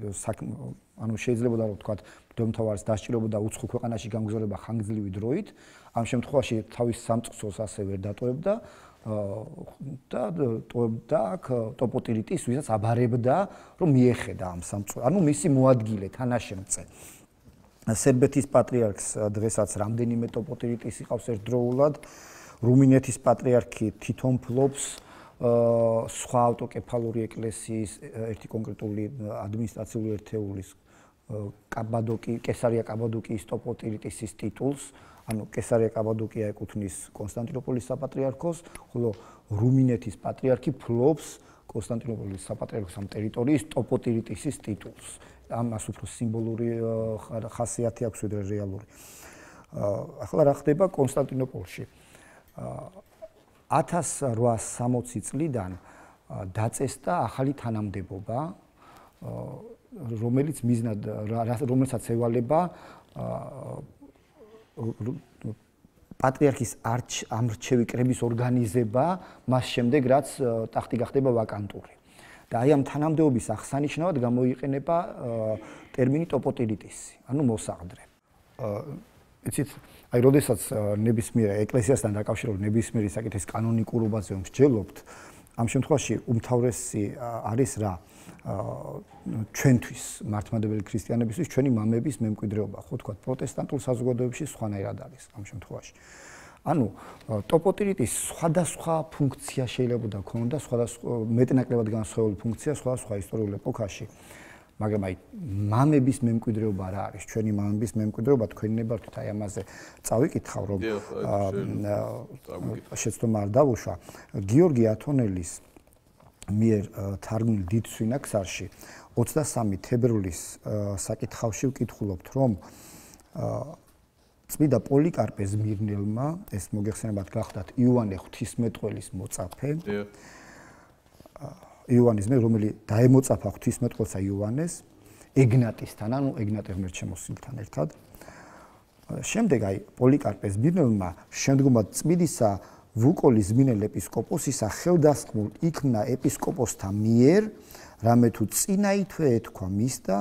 ანუ შეიძლება რომ თქვა მუდეომთავარს დასჭირებოდა უცხო ქვეყანაში გამგზავრება ხანგრძლივი დროით, ამ შემთხვევაში თავის სამწყსოს ასე ვერ დატოვებდა და ტოვებდა აქ ტოპოტირიტის, ვისაც აბარებდა, რომ მიეხედა ამ სამწყსოს. ანუ მისი მოადგილე, თანაშემწე. სერბეთის პატრიარქს დღესაც რამდენიმე ტოპოტირიტისი ყავს ერთდროულად. რუმინეთის პატრიარქი თვითონ ფლობს სხვა ავტოკეფალური ეკლესიის ერთი კონკრეტული ადმინისტრაციული ერთეულის კაბადოკი, კესარია კაბადოკიის ტოპოტირიტისის ტიტულს. ანუ კესარია კაბადოკია ეკუთვნის კონსტანტინოპოლის საპატრიარქოს, ხოლო რუმინეთის პატრიარქი ფლობს კონსტანტინოპოლის საპატრიარქოს ამ ტერიტორიის ტოპოტირიტისის ტიტულს. ამას უფრო სიმბოლური ხასიათი აქვს ვიდრე რეალური. ახლა რა ხდება კონსტანტინოპოლში? ათას რვაას სამოცი წლიდან დაწესდა ახალი თანამდებობა, რომელიც მიზნად რომელსაც ევალება პატრიარქის ამრჩევი კრების ორგანიზება მას შემდეგ, რაც ტახტი გახდება ვაკანტური. და აი ამ თანამდებობის აღსანიშნავად გამოიყენება ტერმინი ტოპოტირიტისი, ანუ მოსაყდრე. იცით, აი როდესაც ნებისმიერ ეკლესიასთან დაკავშირებით ნებისმიერი საკითხის კანონიკურობაზე მსჯელობთ, ამ შემთხვევაში უმთავრესი არის რა? ჩვენთვის მართლმადიდებელი ქრისტიანებისთვის ჩვენი მამების მემკვიდრეობა, ხო თქვა პროტესტანტულ საზოგადოებაში სხვანაირად არის ამ შემთხვევაში. ანუ ტოპოტირიტის სხვადასხვა ფუნქცია შეიძლება ქონოდა, სხვადასხვა მეტნაკლებად განსხვავებული ფუნქცია სხვადასხვა ისტორიულ ეპოქაში. მაგრამ აი მამების მემკვიდრეობა რა არის? ჩვენი მამების მემკვიდრეობა თქვენი ნებართვით აი ამაზე წავიკითხავ, რომ შეცდომა არ დავუშვა. გიორგი ათონელის მიერ თარგმნილ დიდ სვინაქსარში ოცდასამი თებერვლის საკითხავში ვკითხულობთ, რომ წმიდა პოლიკარპე ზმირნელმა, ეს მოგეხსენებათ გახდათ იოანე ღვთისმეტყველის მოწაფე. იოანეს მე რომელი დაემოწაფა ღვთისმეტყველსა იოანეს ეგნატისთან, ანუ ეგნატე ღმერთშემოსილთან ერთად. შემდეგ აი პოლიკარპე ზმირნელმა შემდგომად წმიდისა ვუკოლის ზმინელ ეპისკოპოსისა ხელდასხმულ იქნა ეპისკოპოსთა მიერ, რამე თუ წინაითვე ეთქვა მის და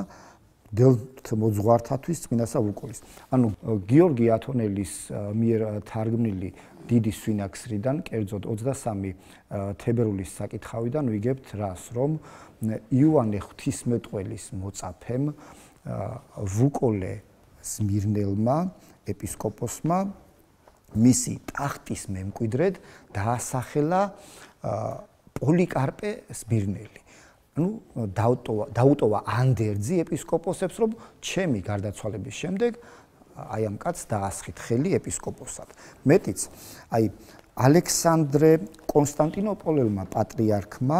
დელთ მოძღვართათვის წმინდასა ვუკოლის. ანუ გიორგი ათონელის მიერ თარგმნილი დიდი სვინაქსრიდან, კერძოდ ოცდასამი თებერვლის საკითხავიდან ვიგებთ რას, რომ იოანე ღვთისმეტყველის მოწაფემ ვუკოლე ზმირნელმა ეპისკოპოსმა მისი ტახტის მემკვიდრედ დაასახელა პოლიკარპე ზმირნელი. ну დაუტოვა დაუტოვა ანდერძი ეპისკოპოსებს, რომ ჩემი გარდაცვალების შემდეგ აი ამ კაცს დაასხით ხელი ეპისკოპოსად. მეტიც აი ალექსანდრე კონსტანტინოპოლელმა პატრიარქმა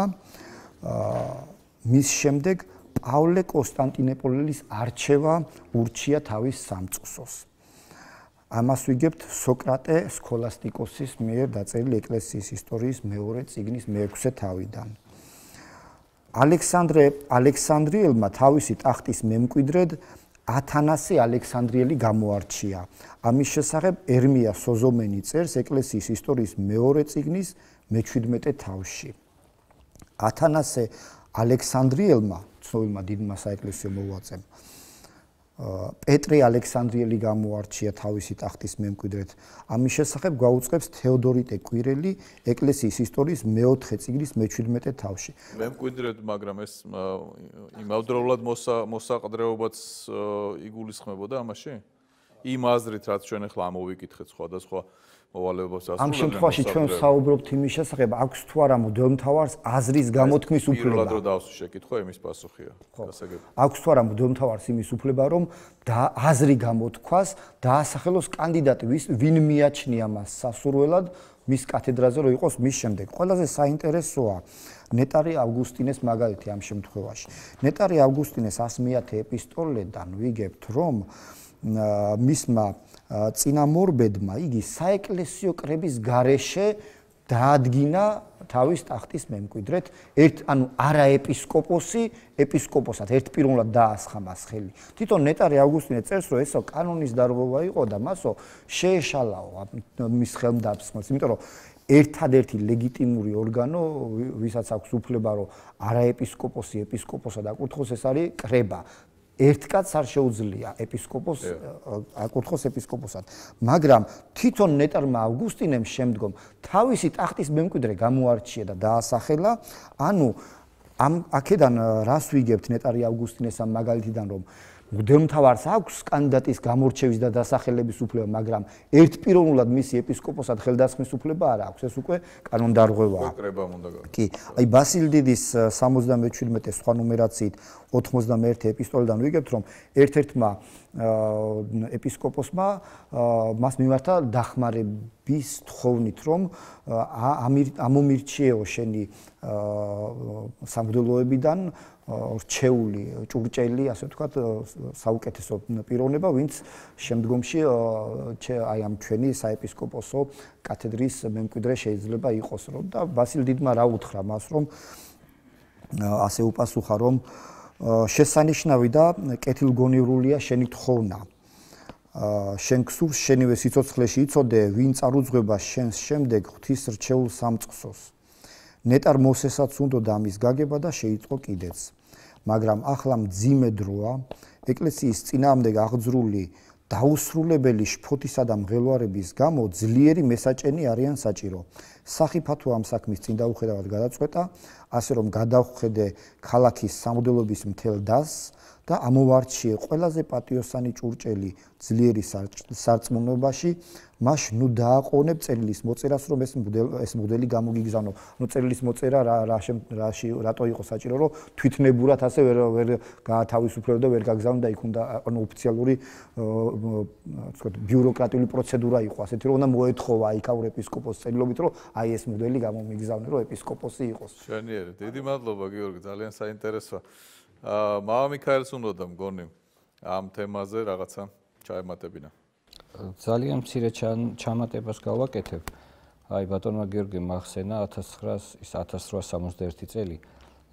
მის შემდეგ პავლე კონსტანტინოპოლის არჩევა ურჩია თავის სამწყსოს. ამას ვიგებთ სოკრატე სქოლასტიკოსის მიერ დაწერილი ეკლესიის ისტორიის მეორე წიგნის მეექვსე თავიდან. ალექსანდრე ალექსანდრიელმა თავისი ტახტის მემკვიდრედ ათანასე ალექსანდრიელი გამოარჩია. ამის შესახებ ერმია სოზომენი წერს ეკლესიის ისტორიის მეორე წიგნის მეჩვიდმეტე თავში. ათანასე ალექსანდრიელმა, ცნობილმა დიდმა საეკლესიო მოღვაწემ, პეტრე ალექსანდრიელი გამოარჩია თავისი ტახტის მემკვიდრედ. ამის შესახებ გვაუწყებს თეოდორიტე კვირელი ეკლესიის ისტორიის მეოთხე წიგნის მეჩვიდმეტე თავში. მემკვიდრედ, მაგრამ ეს იმავდროულად მოსაყდრეობაც იგულისხმებოდა ამაში? იმ აზრით, რაც ჩვენ ახლა ამოვიკითხეთ სხვადასხვა მოვალეობას ასრულებენ. ამ შემთხვევაში ჩვენ საუბრობთ იმის შესახებ, აქვს თუ არა მღვდელმთავარს აზრის გამოთქმის უფლება. პირველად რო დავსვი შეკითხვა, იმის პასუხია. გასაგები. აქვს თუ არა მღვდელმთავარს იმის უფლება, რომ და აზრი გამოთქვას, დაასახელოს კანდიდატი, ვინ მიაჩნია მას სასურველად მის კათედრაზე რო იყოს მის შემდეგ. ყველაზე საინტერესოა ნეტარი ავგუსტინეს მაგალითი ამ შემთხვევაში. ნეტარი ავგუსტინეს ასმეათე ეპისტოლედან ვიგებთ, რომ მისმა წინამორბედმა იგი საეკლესიო კრების გარეშე დაადგინა თავის ტახტის მემკვიდრედ, ერთ ანუ არა ეპისკოპოსი, ეპისკოპოსად ერთპიროვნულად დაასხა მას ხელი. თვითონ ნეტარი ავგუსტინე წერს, რომ ესო კანონის დარღვევა იყო და მასო შეეშალაო მის ხელმდაბსმელს, იმიტომ რომ ერთადერთი ლეგიტიმური ორგანო, ვისაც აქვს უფლება, რომ არა ეპისკოპოსი ეპისკოპოსად აკურთხოს, ეს არის კრება. ერთ კაცს არ შეუძლია ეპისკოპოს აკურთხოს ეპისკოპოსად, მაგრამ თვითონ ნეტარმა ავგუსტინემ შემდგომ თავისი ტახტის მემკვიდრე გამოარჩია და დაასახელა, ანუ ამ აქედან რას ვიგებთ ნეტარი ავგუსტინეს ამ მაგალითიდან, რომ მღვდელმთავარს აქვს კანდიდატის გამორჩევის და დასახელების უფლება, მაგრამ ერთპიროვნულად მისი ეპისკოპოსად ხელდასხმის უფლება არ აქვს, ეს უკვე კანონდარღვევაა. კი, აი ბასილ დიდის სამოცდამეჩვიდმეტე სხვა ნუმერაციით ოთხმოცდამეერთე ეპისტოლედან ვიგებთ, რომ ერთ-ერთმა ეპისკოპოსმა მას მიმართა დახმარების თხოვნით, რომ ამომირჩიეო შენი სამღვდელოებიდან რჩეული, ჭურჭელი, ასე ვთქვათ, საუკეთესო პიროვნება, ვინც შემდგომში აი ამ ჩვენი საეპისკოპოსო კათედრის მემკვიდრე შეიძლება იყოს, რომ და ბასილ დიდმა რა უთხრა მას, რომ ასე უპასუხა, რომ შესანიშნავი და კეთილგონივრულია შენი თხოვნა. შენ გსურს შენივე სიცოცხლეში იცოდე, ვინ წარუძღვება შენს შემდეგ ღვთის რჩეულ სამწყსოს. ნეტარ მოსესაც უნდოდა ამის გაგება და შეიწყო კიდეც. მაგრამ ახლა მძიმე დროა, ეკლესიის წინააღმდეგ აღძრული დაუსრულებელი შფოთისა და მღელვარების გამო ძლიერი მესაჭენი არიან საჭირო. სახიფათო ამ საქმის წინ დაუხედავად გადაწყვეტა, ასე რომ გადავხედე ქალაქის სამღვდელობის მთელ დასს და ამოვარჩიე ყველაზე პატიოსანი ჭურჭელი ძლიერი სარწმუნოებაში, მას ნუ დააყოვნებ წერილის მოწერას, რომ ეს ეს მღვდელი გამოგიგზავნო. ნუ წერილის მოწერა რა რაში რატო იყო საჭირო, რომ თვითნებურად ასე ვერ ვერ გაათავისუფლებდა, ვერ გაგზავნდა და იქ უნდა ანუ ოფიციალური ვთქვათ ბიუროკრატიული პროცედურა იყო, ასეთი რომ უნდა მოეთხოვა იქაურ ეპისკოპოსს წერილობით, რომ აი ეს მღვდელი გამომიგზავნე, რომ ეპისკოპოსი იყოს. მშვენიერი, დიდი მადლობა გიორგი, ძალიან საინტერესოა. აა მამა მიქაელს უნდა მგონი ამ თემაზე რაღაცა ჩაემატებინა. ძალიან მცირე ჩამატებას გავაკეთებ. აი ბატონმა გიორგიმ მახსენა ათას რვაას სამოცდაერთი წელი.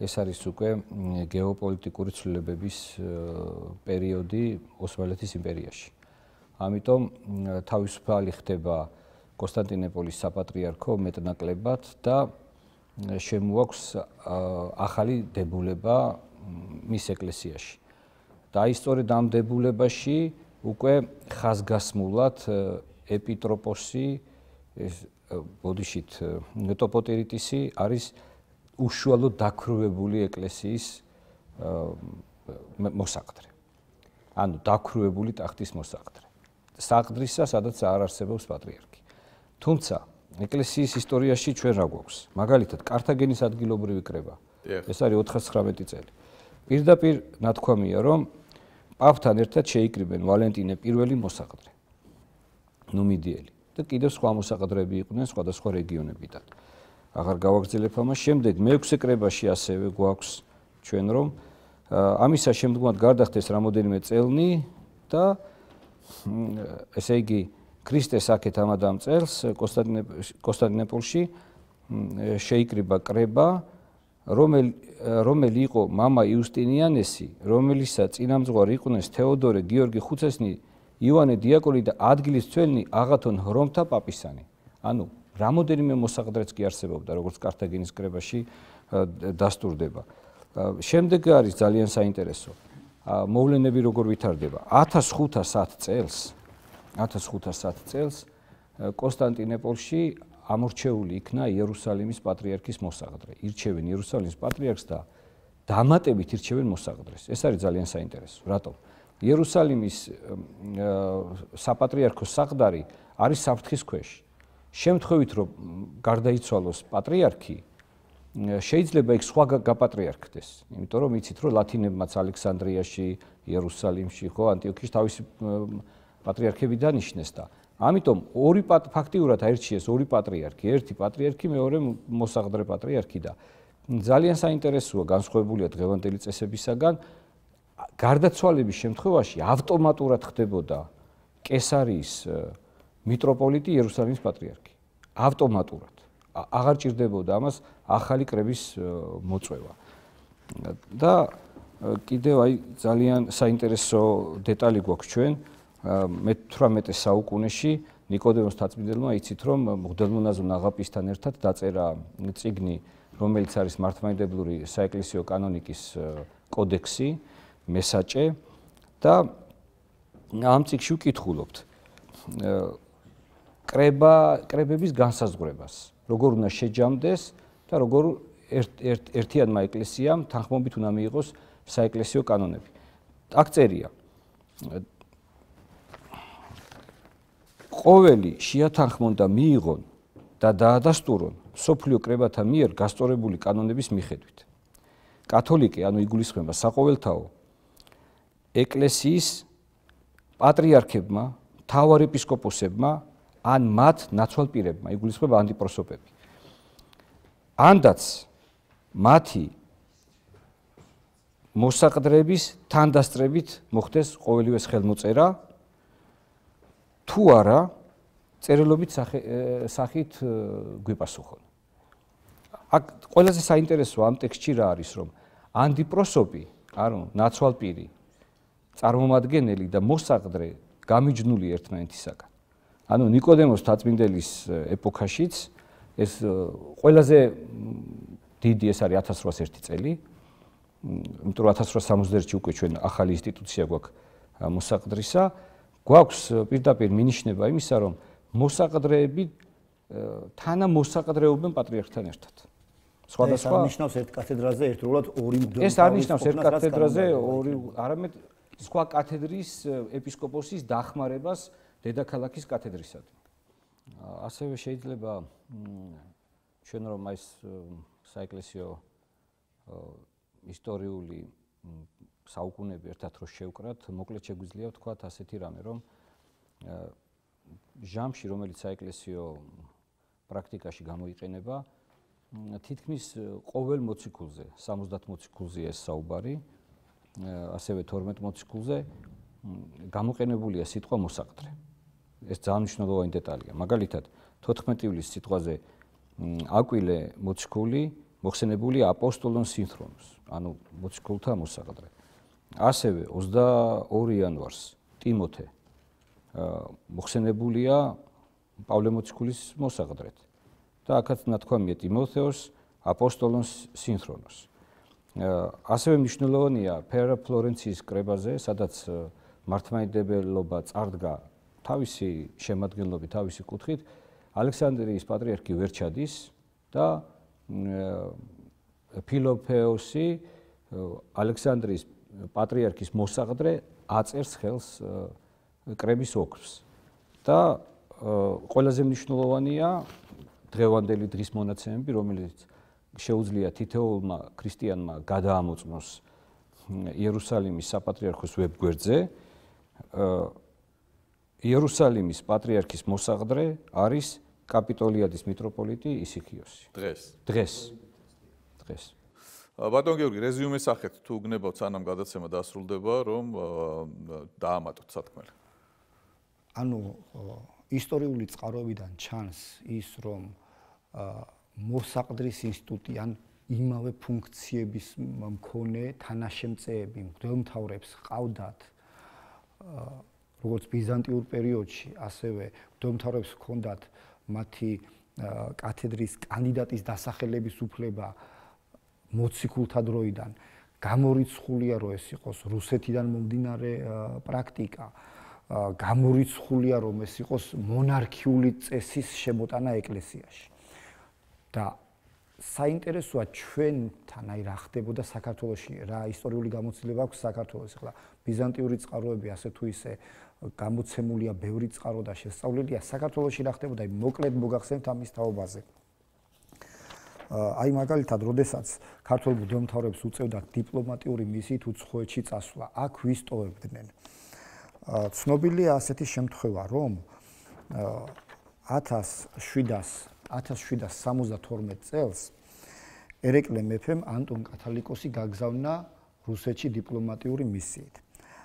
ეს არის უკვე გეოპოლიტიკური ცვლილებების პერიოდი ოსმალეთის იმპერიაში. ამიტომ თავისუფალი ხდება კონსტანტინოპოლის საპატრიარქო მეტნაკლებად და შემოაქვს ახალი დებულება მის ეკლესიაში. და აი სწორედ ამ დებულებაში უკვე ხაზგასმულად ეპიტროპოსი ეს ბოდიშით ტოპოტირიტისი არის უშუალოდ დაქრუებული ეკლესიის მოსაყდრე. ანუ დაქრუებული ტახტის მოსაყდრე. საყდრისა, სადაც არ არსებობს პატრიარქი. თუმცა ეკლესიის ისტორიაში ჩვენ რა გვაქვს? მაგალითად, კართაგენის ადგილობრივი კრება. ეს არის ოთხასცხრამეტი წელი. პირდაპირ ნათქვამია, რომ პაპთან ერთად შეიკრიბნენ ვალენტინე პირველი მოსაყდრე, ნუმიდიელი და კიდევ სხვა მოსაყდრეები იყვნენ სხვადასხვა რეგიონებიდან. აღარ გავაგრძელებ ამას. შემდეგ მეექვსე კრებაში ასევე გვაქვს ჩვენ, რომ ამისა შემდგომად გარდახდეს რამოდენიმე წელნი და ესე იგი ქრისტეს აქეთ ამადამ წელს კონსტანტინოპოლში შეიკრიბა კრება, რომელი რომელი იყო მამა იუსტინიანესი, რომელისა წინამძღვარი იყვნენ თეოდორე, გიორგი ხუცესნი, ივანე დიაკონი და ადგილის მცველნი აღათონ ჰრომთა პაპისანი. ანუ რამოდენიმე მოსაყდრეც კი არსებობდა, როგორც კართაგენის კრებაში დასტურდება. შემდეგ არის ძალიან საინტერესო. მოვლენები როგორ ვითარდება. ათას ხუთას ათ წელს, ათას ხუთას ათ წელს კონსტანტინოპოლში ამორჩეული იქნა იერუსალიმის პატრიარქის მოსაყდრე. ირჩევენ იერუსალიმის პატრიარქს და დამატებით ირჩევენ მოსაყდრეს. ეს არის ძალიან საინტერესო. რატომ? იერუსალიმის საპატრიარქოს საყდარი არის საფრთხის ქვეშ. შემთხვევით რომ გარდაიცვალოს პატრიარქი, შეიძლება იქ სხვა გაპატრიარქდეს, იმიტომ რომ იცით რომ ლათინებმაც ალექსანდრიაში, იერუსალიმში, ხო, ანტიოქიაში თავისი პატრიარქები დანიშნეს და ამიტომ ორი ფაქტიურად აირჩიეს ორი პატრიარქი, ერთი პატრიარქი, მეორე მოსაყდრე პატრიარქი და ძალიან საინტერესოა განსხვავებულია დღევანდელი წესებისაგან. გარდაცვალების შემთხვევაში ავტომატურად ხდებოდა კესარიის მიტროპოლიტი იერუსალიმის პატრიარქი. ავტომატურად. აღარ ჭირდებოდა ამას ახალი კრების მოწვევა. და კიდევ აი ძალიან საინტერესო დეტალი გვაქვს ჩვენ მეთვრამეტე საუკუნეში ნიკოდემოს თაწმიდელმა იცით რომ მღვდელმონაზონ აღაპისთან ერთად დაწერა წიგნი, რომელიც არის მართლმადიდებლური საეკლესიო კანონიკის კოდექსი, მესაჭე და ამ წიგნში ვკითხულობთ კრება კრებების განსაზღვრებას, როგორ უნდა შეჯამდეს და როგორ ერთიანმა ეკლესიამ თანხმობით უნდა მიიღოს საეკლესიო კანონები. აქ წერია ყოველი შეათანხმონ და მიიღონ და დაადასტურონ სოფლიო კრებათა მიერ გასწორებული კანონების მიხედვით. კათოლიკე, ანუ იგულისხმება საყოველთაო ეკლესიის პატრიარქებმა, მთავარეპისკოპოსებმა ან მათ ნაცვალპირებმა, იგულისხმება ანტიპროსოპები. ანდაც მათი მოსაყდრების თანდასწრებით მოხდეს ყოველივეს ხელმოწერა, თუ არა წერილობით სახით გვიპასუხონ. აქ ყველაზე საინტერესო ამ ტექსტში რა არის, რომ ანტიპროსოპი, ანუ ნაცვალპირი, წარმომადგენელი და მოსაყდრე გამიჯნული ერთმანეთისაგან. ანუ ნიკოდემოს თაწმინდელის ეპოქაშიც ეს ყველაზე დიდი ეს არის ათას რვაას ერთი წელი, იმიტომ რომ ათას რვაას სამოცდაერთში უკვე ჩვენ ახალი ინსტიტუცია გვაქვს მოსაყდრისა, გვაქვს პირდაპირ მინიშნება იმისა, რომ მოსაყდრეები თანამოსაყდრეობენ პატრიარქთან ერთად. სხვადასხვა ეს არნიშნავს ერთ კათედრაზე ერთდროულად ორი მღვდელი. ეს არნიშნავს ერთ კათედრაზე ორი, არამედ სხვა კათედრის ეპისკოპოსის დახმარებას დედაქალაქის კათედრისადმი. ასევე შეიძლება ჩვენ რომ ეს საეკლესიო ისტორიული საუკუნეები ერთად რო შევკრათ, მოკლედ შეგვიძლია ვთქვათ ასეთი რამე, რომ ჟამში, რომელიც საეკლესიო პრაქტიკაში გამოიყენება, თითქმის ყოველ მოციქულზე, სამოცდაათ მოციქულზეა ეს საუბარი, ასევე თორმეტ მოციქულზე გამოყენებულია სიტყვა მოსაყდრე. ეს ძალიან მნიშვნელოვანი დეტალია. მაგალითად, თოთხმეტი ივლისის სიტყვაზე აკვილე მოციქული მოხსენებულია აპოსტოლონ სინთრონოს, ანუ მოციქულთა მოსაყდრე. ასევე ოცდაორი იანვარს ტიმოთე მოხსენებულია პავლე მოციქულის მოსაყდრეთ. და აქაც ნათქვამია ტიმოთეოს აპოსტოლონ სინთრონოს. ასევე მნიშვნელოვანია ფერა ფლორენციის კრებაზე, სადაც მართლმადიდებლობა წარდგა თავისი შემადგენლობით, თავისი კუთხით, ალექსანდრიის პატრიარქი ვერ ჩადის და ფილოფეოსი, ალექსანდრიის პატრიარქის მოსაყდრე, აწერს ხელს კრების ოქროს. და ყველაზე მნიშვნელოვანია დღევანდელი დღის მონაცემები, რომელიც შეუძლია თითოეულმა ქრისტიანმა გადაამოწმოს იერუსალიმის საპატრიარქოს ვებგვერდზე. იერუსალიმის პატრიარქის მოსაყდრე არის კაპიტოლიადის მიტროპოლიტი ისიქიოსი. დღეს. დღეს. დღეს. ბატონ გიორგი, რეზიუმეს სახეთ თუ გნებავთ სანამ გადაცემა დასრულდება, რომ დაამატოთ სათქმელი. ანუ ისტორიული წყაროებიდან ჩანს ის, რომ მოსაყდრის ინსტიტუტი ან იმავე ფუნქციების მქონე თანაშემწეები მღვდელმთავრებს ყავდათ როგორც ბიზანტიურ პერიოდში, ასევე მღვდელმთავრებს ჰქონდათ მათი კათედრის კანდიდატის დასახელების უფლება მოციქულთა დროიდან. გამორიცხულია რომ ეს იყოს რუსეთიდან მომდინარე პრაქტიკა, გამორიცხულია რომ ეს იყოს მონარქიული წესის შემოტანა ეკლესიაში. და საინტერესოა ჩვენთან აი რა ხდებოდა საქართველოში, რა ისტორიული გამოცდილება აქვს საქართველოს. ახლა ბიზანტიური წყაროები ასე თუ ისე გამოცემულია, ბევრი წყარო და შესწავლილია. საქართველოში რა ხდებოდა, აი მოკლედ მოგახსენებთ ამის თაობაზე. აი მაგალითად, როდესაც ქართულ მღვდელმთავრებს უწევდათ დიპლომატიური მისიით უცხოეთში წასვლა, აქ ვისტოვებდნენ. ცნობილია ასეთი შემთხვევა, რომ ათას შვიდას სამოცდათორმეტ წელს ერეკლე მეფემ ანტონ კათალიკოსი გაგზავნა რუსეთში დიპლომატიური მისიით.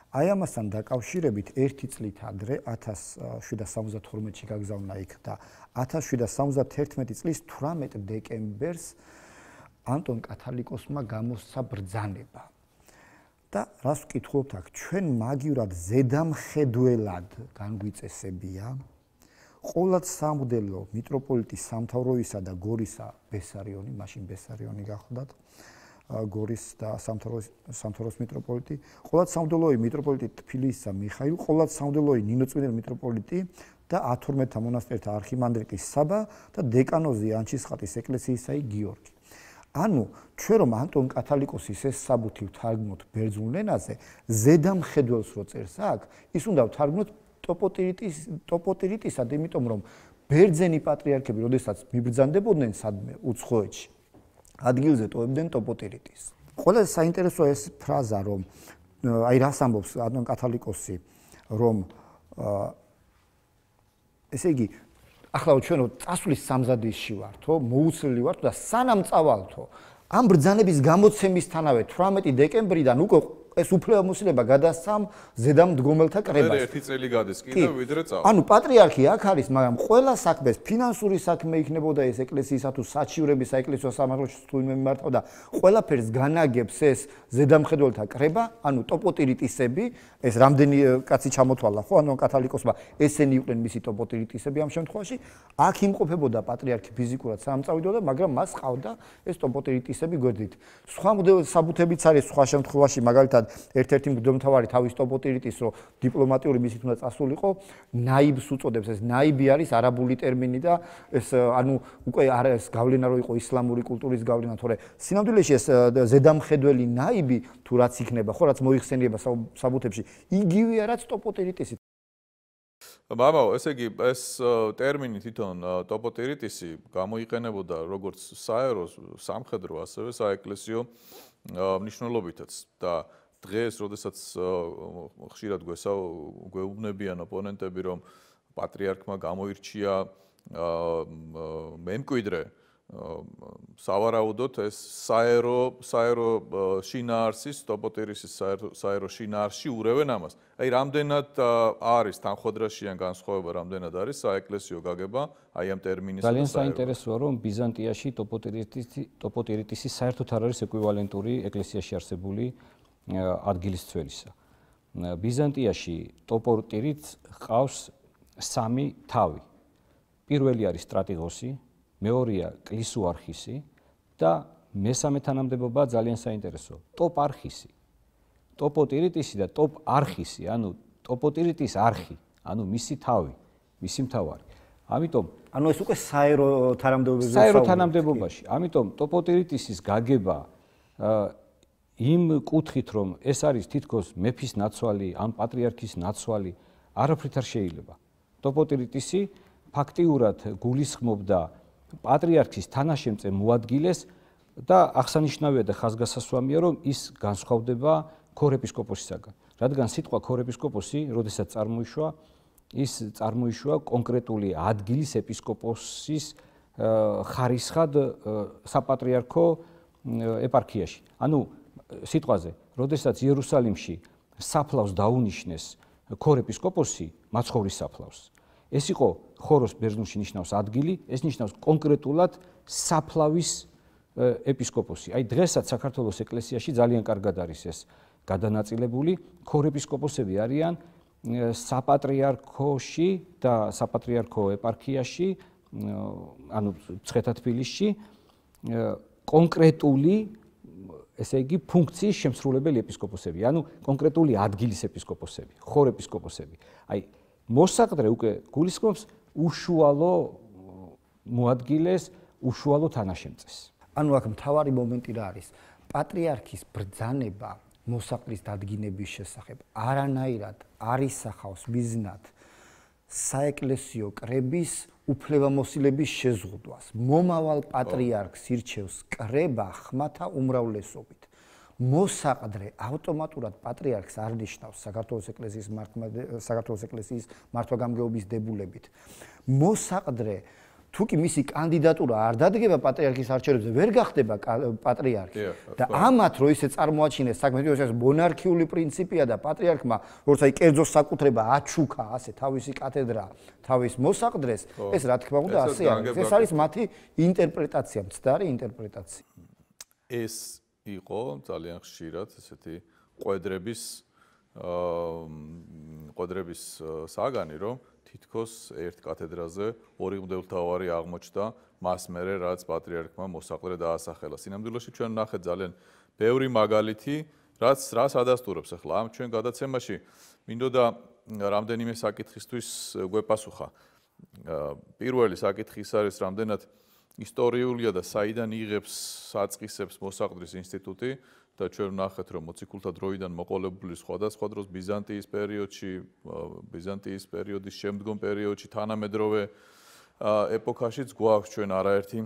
აი ამასთან დაკავშირებით ერთი წლით ადრე ათას შვიდას სამოცდათორმეტში გაგზავნა იქ და ათას შვიდას სამოცდათერთმეტი წლის თვრამეტ დეკემბერს ანტონ კათალიკოსმა გამოსცა ბრძანება. და რას ვკითხულობთ აქ, ჩვენ მაგივრად ზედამხედველად განგვიწესებია ყოლად სამღვდელო მიტროპოლიტი სამთავროისა და გორისა ბესარიონი, მაშინ ბესარიონი გახლდათ, გორის და სამთავროს მიტროპოლიტი, ყოლად სამღვდელოი მიტროპოლიტი თბილისისა მიხაილ, ყოლად სამღვდელოი ნინოწმინდელი მიტროპოლიტი და ათორმეტთა მონასტერთა არქიმანდრიტი საბა და დეკანოზი ანჩისხატის ეკლესიისაი გიორგი. ანუ ჩვენ რომ ანტონ კათალიკოსის ეს საბუთი ვთარგმნოთ ბერძნულ ენაზე, ზედამხედველს რო წერს აქ, ის უნდა ვთარგმნოთ ტოპოტირიტისად, იმიტომ რომ ბერძენი პატრიარქები, როდესაც მიბრძანდებოდნენ სადმე უცხოეთში, ადგილზე ტოვებდნენ ტოპოტირიტის. ყველაზე საინტერესოა ეს ფრაზა, რომ აი რას ამბობს ანტონ კათალიკოსი, რომ ესე იგი ახლა ჩვენ წასვლის სამზადისში ვართო, მოუცლელი ვართ და სანამ წავალთო, ამ ბრძანების გამოცემისთანავე თვრამეტი დეკემბრიდან უკვე ეს უფლებამოსილება გადასცამ ზედამდგომელთა კრებას. ერთი წელი გადის კიდევ ვიდრე წავა. ანუ პატრიარქი აქ არის, მაგრამ ყველა საქმეს, ფინანსური საქმე იქნებოდა ეს ეკლესიისა თუ საჩივრები საეკლესიო სამართლოში თუ მიმართავდა, ყველაფერს განაგებს ეს ზედამხედველთა კრება, ანუ ტოპოტირიტისები, ეს რამდენი კაცი ჩამოთვალა, ხო, ანუ კათალიკოსმა ესენი იყვნენ მისი ტოპოტირიტისები ამ შემთხვევაში, აქ იმყოფებოდა პატრიარქი ფიზიკურად სანამ წავიდოდა, მაგრამ მას ყავდა ეს ტოპოტირიტისები გვერდით. სხვა საბუთებიც არის სხვა შემთხვევაში, მაგალითად ერთ-ერთი მღვდელმთავარი თავის ტოპოტირიტის რო დიპლომატიური მისით უნდა წასულიყო, ნაიბს უწოდებს. ეს ნაიბი არის არაბული ტერმინი და ეს ანუ უკვე არის გავლენა რო იყო ისლამური კულტურის გავლენა, თორე სინამდვილეში ეს ზედამხედველი ნაიბი თუ რაც იქნება, ხო, რაც მოიხსენიება საბუთებში, იგივეა რაც ტოპოტირიტისი. მამაო, ესე იგი ეს ტერმინი თვითონ ტოპოტირიტისი გამოიყენებოდა როგორც საერო სამხედრო, ასევე საეკლესიო მნიშვნელობითაც და დღეს, როდესაც ხშირად გვეუბნებიან ოპონენტები, რომ პატრიარქმა გამოირჩია მემკვიდრე, სავარაუდოდ ეს საერო საერო შინაარსის ტოპოტირისის საერო შინაარსში ურევენ ამას. აი რამდენად არის თანხმდრაშიან განსხვავება, რამდენად არის საეკლესიო გაგება აი ამ ტერმინის. ძალიან საინტერესოა, რომ ბიზანტიაში ტოპოტირიტისი ტოპოტირიტისი საერთოდ არ არის ეკვივალენტური ეკლესიაში არსებული ადგილის ცველისა. ბიზანტიაში ტოპოტირიტს ჰყავს სამი თავი. პირველი არის სტრატიგოსი, მეორეა კლისუარხისი და მესამე თანამდებობა ძალიან საინტერესოა, ტოპარხისი. ტოპოტირიტისი და ტოპარხისი, ანუ ტოპოტირიტის არხი, ანუ მისი თავი, მისი მთავარი. ამიტომ, ანუ ეს უკვე საერო თანამდებობაზე საერო თანამდებობაში. ამიტომ ტოპოტირიტისის გაგება იმ კუთხით, რომ ეს არის თითქოს მეფის ნაცვალი, ან პატრიარქის ნაცვალი, არაფრით არ შეიძლება. ტოპოტირიტისი ფაქტიურად გულისხმობდა პატრიარქის თანაშემწე მოადგილეს და აღსანიშნავია და ხაზგასასვამია, რომ ის განსხვავდება ქორეპისკოპოსისაგან. რადგან სიტყვა ქორეპისკოპოსი, როდესაც წარმოიშვა, ის წარმოიშვა კონკრეტული ადგილის ეპისკოპოსის ხარისხად საპატრიარქო ეპარქიაში. ანუ სიტყვაზე, როდესაც იერუსალიმში საფლავს დაუნიშნეს ქორეპისკოპოსი, მაცხოვრის საფლავს. ეს იყო ხოროს ბერძნულში ნიშნავს ადგილი, ეს ნიშნავს კონკრეტულად საფლავის ეპისკოპოსი. აი დღესაც საქართველოს ეკლესიაში ძალიან კარგად არის ეს გადანაწილებული. ქორეპისკოპოსები არიან საპატრიარქოში და საპატრიარქო ეპარქიაში, ანუ მცხეთა-თბილისში კონკრეტული ესე იგი ფუნქციის შემსრულებელი ეპისკოპოსები, ანუ კონკრეტული ადგილის ეპისკოპოსები, ხორ ეპისკოპოსები. აი მოსაყდრე უკვე გულისხმობს უშუალო მოადგილეს, უშუალო თანაშემწეს. ანუ აქ მთავარი მომენტი რა არის? პატრიარქის ბრძანება მოსაყდრის დადგინების შესახებ არანაირად არ ისახავს მიზნად საეკლესიო კრების უფლებამოსილების შეზღუდვას. მომავალ პატრიარქს ირჩევს კრება ხმათა უმრავლესობით. მოსაყდრე ავტომატურად პატრიარქს არ ნიშნავს საქართველოს ეკლესიის საქართველოს ეკლესიის მართვა-გამგეობის დებულებით. მოსაყდრე თუ კი მისი კანდიდატურა არ დადგება პატრიარქის არჩევნებზე, ვერ გახდება პატრიარქი. და ამათ რო ისე წარმოაჩინეს საქმე, ეს მონარქიული პრინციპია და პატრიარქმა, როგორც აი კერძო საკუთრება აჩუქა ასე თავისი კათედრა, თავის მოსაყდრეს, ეს რა თქმა უნდა ასე არის. ეს არის მათი ინტერპრეტაცია, მცდარი ინტერპრეტაცია. ეს იყო ძალიან ხშირად ესეთი ყვედრების აა ყვედრების საგანი, რომ თითქოს ერთ კათედრაზე ორი მღვდელმთავარი აღმოჩნდა მას მერე რაც პატრიარქმა მოსაყდრე დაასახელა. სინამდვილეში ჩვენ ნახეთ ძალიან ბევრი მაგალითი, რაც რას ადასტურებს ახლა ამ ჩვენ გადაცემაში მინდოდა რამდენიმე საკითხისთვის გვეპასუხა. პირველი საკითხი ის არის რამდენად ისტორიულია და საიდან იღებს საწყისებს მოსაყდრის ინსტიტუტი და ჩვენ ვნახეთ რომ მოციქულთა დროიდან მოყოლებული სხვადასხვა დროს ბიზანტიის პერიოდში, ბიზანტიის პერიოდის შემდგომ პერიოდში, თანამედროვე ეპოქაშიც გვაქვს ჩვენ არაერთი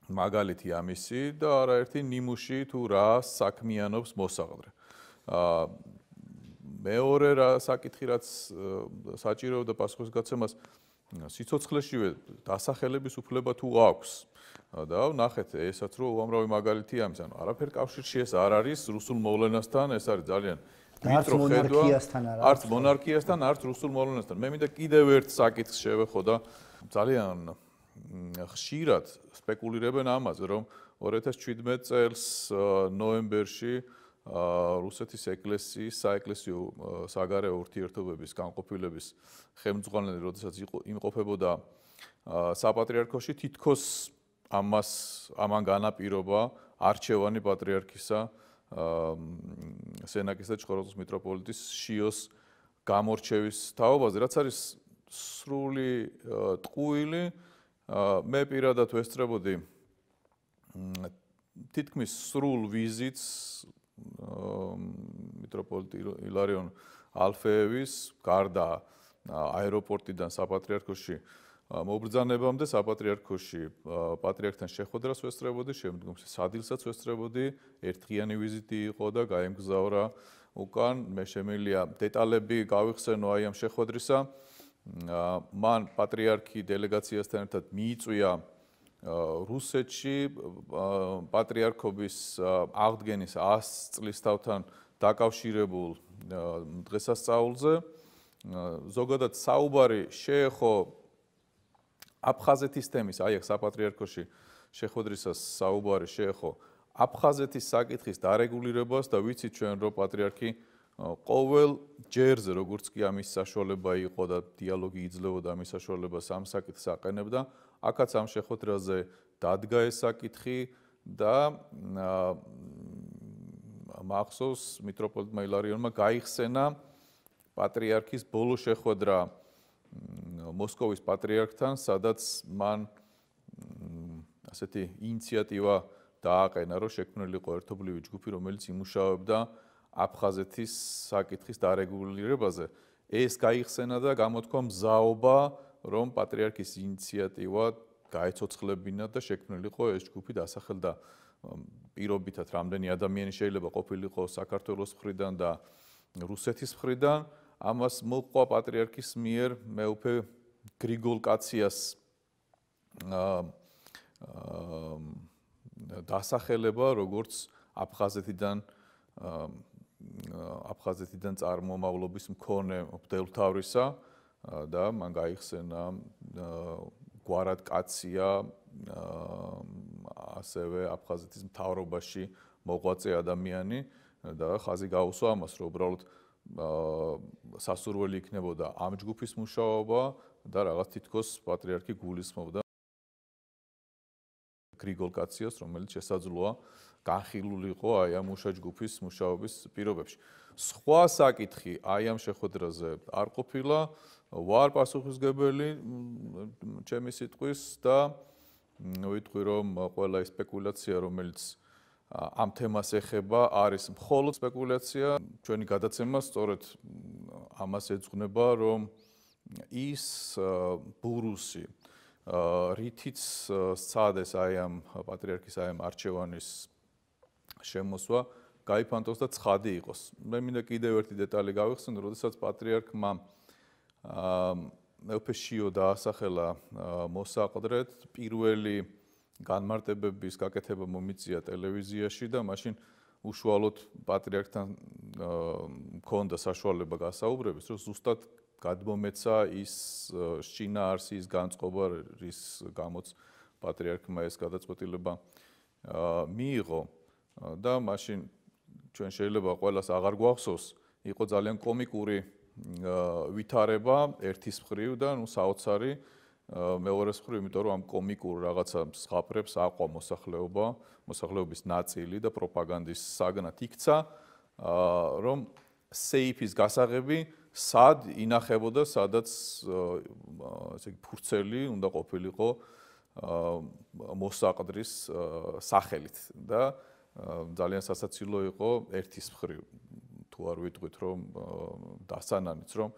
მაგალითი ამისი და არაერთი ნიმუში თუ რა საქმიანობს მოსაყდრე. მეორე რა საკითხი რაც საჭიროებდა პასუხისგაცემას სიცოცხლეშივე დასახელების უფლება თუ აქვს და ნახეთ ესაც რომ უამრავი მაგალითი ამის, ანუ არაფერ კავშირში ეს არ არის რუსულ მოვლენასთან, ეს არის ძალიან ვიწრო ხედვა, არც მონარქიასთან, არც რუსულ მოვლენასთან. მე მინდა კიდევ ერთ საკითხს შევეხო და ძალიან ხშირად სპეკულირებენ ამაზე, რომ ორი ათას შვიდმეტ წელს ნოემბერში რუსეთის ეკლესიის საეკლესიო საგარეო ურთიერთობების განყოფილების ხელმძღვანელი, როდესაც იმყოფებოდა საპატრიარქოში, თითქოს ამას ამან განაპირობა არჩევანი პატრიარქისა სენაკის და ჩხოროწყუს მიტროპოლიტის შიოს გამორჩევის თაობაზე, რაც არის სრული ტყუილი. მე პირადად ვესწრებოდი თითქმის სრულ ვიზიტს მიტროპოლიტი ილარიონ ალფეევის გარდა აეროპორტიდან საპატრიარქოში მობრძანებამდე საპატრიარქოში პატრიარქთან შეხვედრას ვესწრებოდი, შემდგომ სადილსაც ვესწრებოდი, ერთდღიანი ვიზიტი იყო და გაემგზავრა უკან. მე შემიძლია დეტალები გავიხსენო აი ამ შეხვედრისა. მან პატრიარქი დელეგაციასთან ერთად მიიწვია რუსეთში პატრიარქობის აღდგენის ას წლის თავთან დაკავშირებულ დღესასწაულზე. ზოგადად საუბარი შეეხო აფხაზეთის თემის, აი აქ საპატრიარქოში შეხვედრისას საუბარი შეეხო აფხაზეთის საკითხის დარეგულირებას და ვიცით ჩვენ რომ პატრიარქი ყოველ ჯერზე როგორც კი ამის საშუალება იყო და დიალოგი იძლეოდა ამის საშუალებას ამ საკითხს აყენებდა, აქაც ამ შეხვედრაზე დადგა ეს საკითხი და მახსოვს მიტროპოლიტმა ილარიონმა გაიხსენა პატრიარქის ბოლო შეხვედრა მოსკოვის პატრიარქთან, სადაც მან ასეთი ინიციატივა დააყენა, რომ შექმნილიყო ერთობლივი ჯგუფი, რომელიც იმუშავებდა აფხაზეთის საკითხის დარეგულირებაზე. ეს გაიხსენა და გამოთქვა მზაობა, რომ პატრიარქის ინიციატივა გაეცოცხლებინა და შექმნილიყო ეს ჯგუფი, დასახელდა პირობითად რამდენი ადამიანი შეიძლება ყოფილიყო საქართველოს მხრიდან და რუსეთის მხრიდან. ამას მოყვა პატრიარქის მიერ მეუფე გრიგოლ კაციას დასახელება, როგორც აფხაზეთიდან აფხაზეთიდან წარმომავლობის მქონე მღვდელმთავრისა და მან გაიხსენა გვარად კაცია ასევე აფხაზეთის მთავრობაში მოღვაწე ადამიანი და ხაზი გაუსვა ამას, რომ უბრალოდ სასურველი იქნებოდა ამ ჯგუფის მუშაობა და რაღაც თითქოს პატრიარქი გულისხმობდა გრიგოლ კაციას, რომელიც შესაძლოა განხილულიყო აი ამ მუშა ჯგუფის მუშაობის პირობებში. სხვა საკითხი აი ამ შეხვედრაზე არ ყოფილა, ვარ პასუხისგებელი ჩემი სიტყვის და ვიტყვი რომ ყველა ის სპეკულაცია რომელიც ამ თემას ეხება არის მხოლოდ სპეკულაცია, ჩვენი გადაცემა სწორედ ამას ეძღვნება რომ ის ბურუსი რითიც სცადეს აი ამ პატრიარქის აი ამ არჩევანის შემოსვა გაიფანტოს და ცხადი იყოს. მე მინდა კიდევ ერთი დეტალი გავიხსენო, როდესაც პატრიარქმა მეფეშიო დაასახელა მოსაყდრედ პირველი განმარტებების გაკეთება მომიწია ტელევიზიაში და მაშინ უშუალოდ პატრიარქთან მქონდა საშუალება გასაუბრების, რომ ზუსტად გადმომეცა ის შინაარსის განწყობა, რის გამოც პატრიარქმა ეს გადაწყვეტილება მიიღო და მაშინ ჩვენ შეიძლება ყველას აღარ გვახსოვს, იყო ძალიან კომიკური ვითარება ერთის მხრივ და ნუ საოცარი მეორეს მხრივ, იმიტომ რომ ამ კომიკურ რაღაცა მსხაპრებს აყვა მოსახლეობა, მოსახლეობის ნაწილი და პროპაგანდის საგნად იქცა, რომ სეიფის გასაღები სად ინახებოდა, სადაც ესე იგი ფურცელი უნდა ყოფილიყო მოსაყდრის სახელით და ძალიან სასაცილო იყო ერთის მხრივ თუ არ ვიტყვით რომ დასანანიც რომ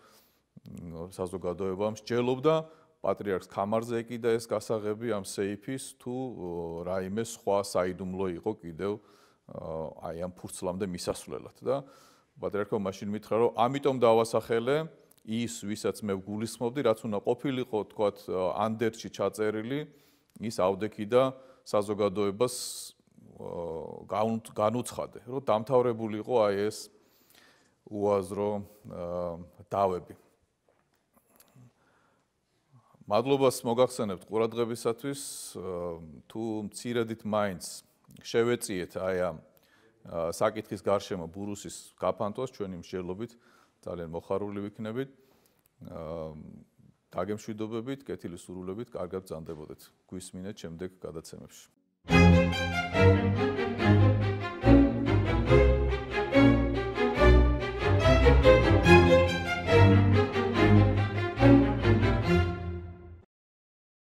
საზოგადოებამ მსჯელობდა პატრიარქს კამარზე ეკიდა ეს გასაღები ამ სეიფის თუ რაიმე სხვა საიდუმლო იყო კიდევ აი ამ ფურცლამდე მისასვლელად და პატრიარქმა მაშინ მითხრა რომ ამიტომ დავასახელე ის ვისაც მე ვგულისხმობდი რაც უნდა ყოფილიყო თქვათ ანდერში ჩაწერილი ის ავდექი და საზოგადოებას განუცხადე რომ დამთავრებული იყო აი ეს უაზრო დავები. მადლობას მოგახსენებთ ყურადღებისათვის, თუ მცირედით მაინც შევეწიეთ აი ამ საკითხის გარშემო ბურუსის გაფანტვას ჩვენი მსჯელობით ძალიან მოხარული ვიქნებით. დაგემშვიდობებით, კეთილი სურვილებით, კარგად ბრძანდებოდეთ. გვისმინეთ შემდეგ გადაცემებში.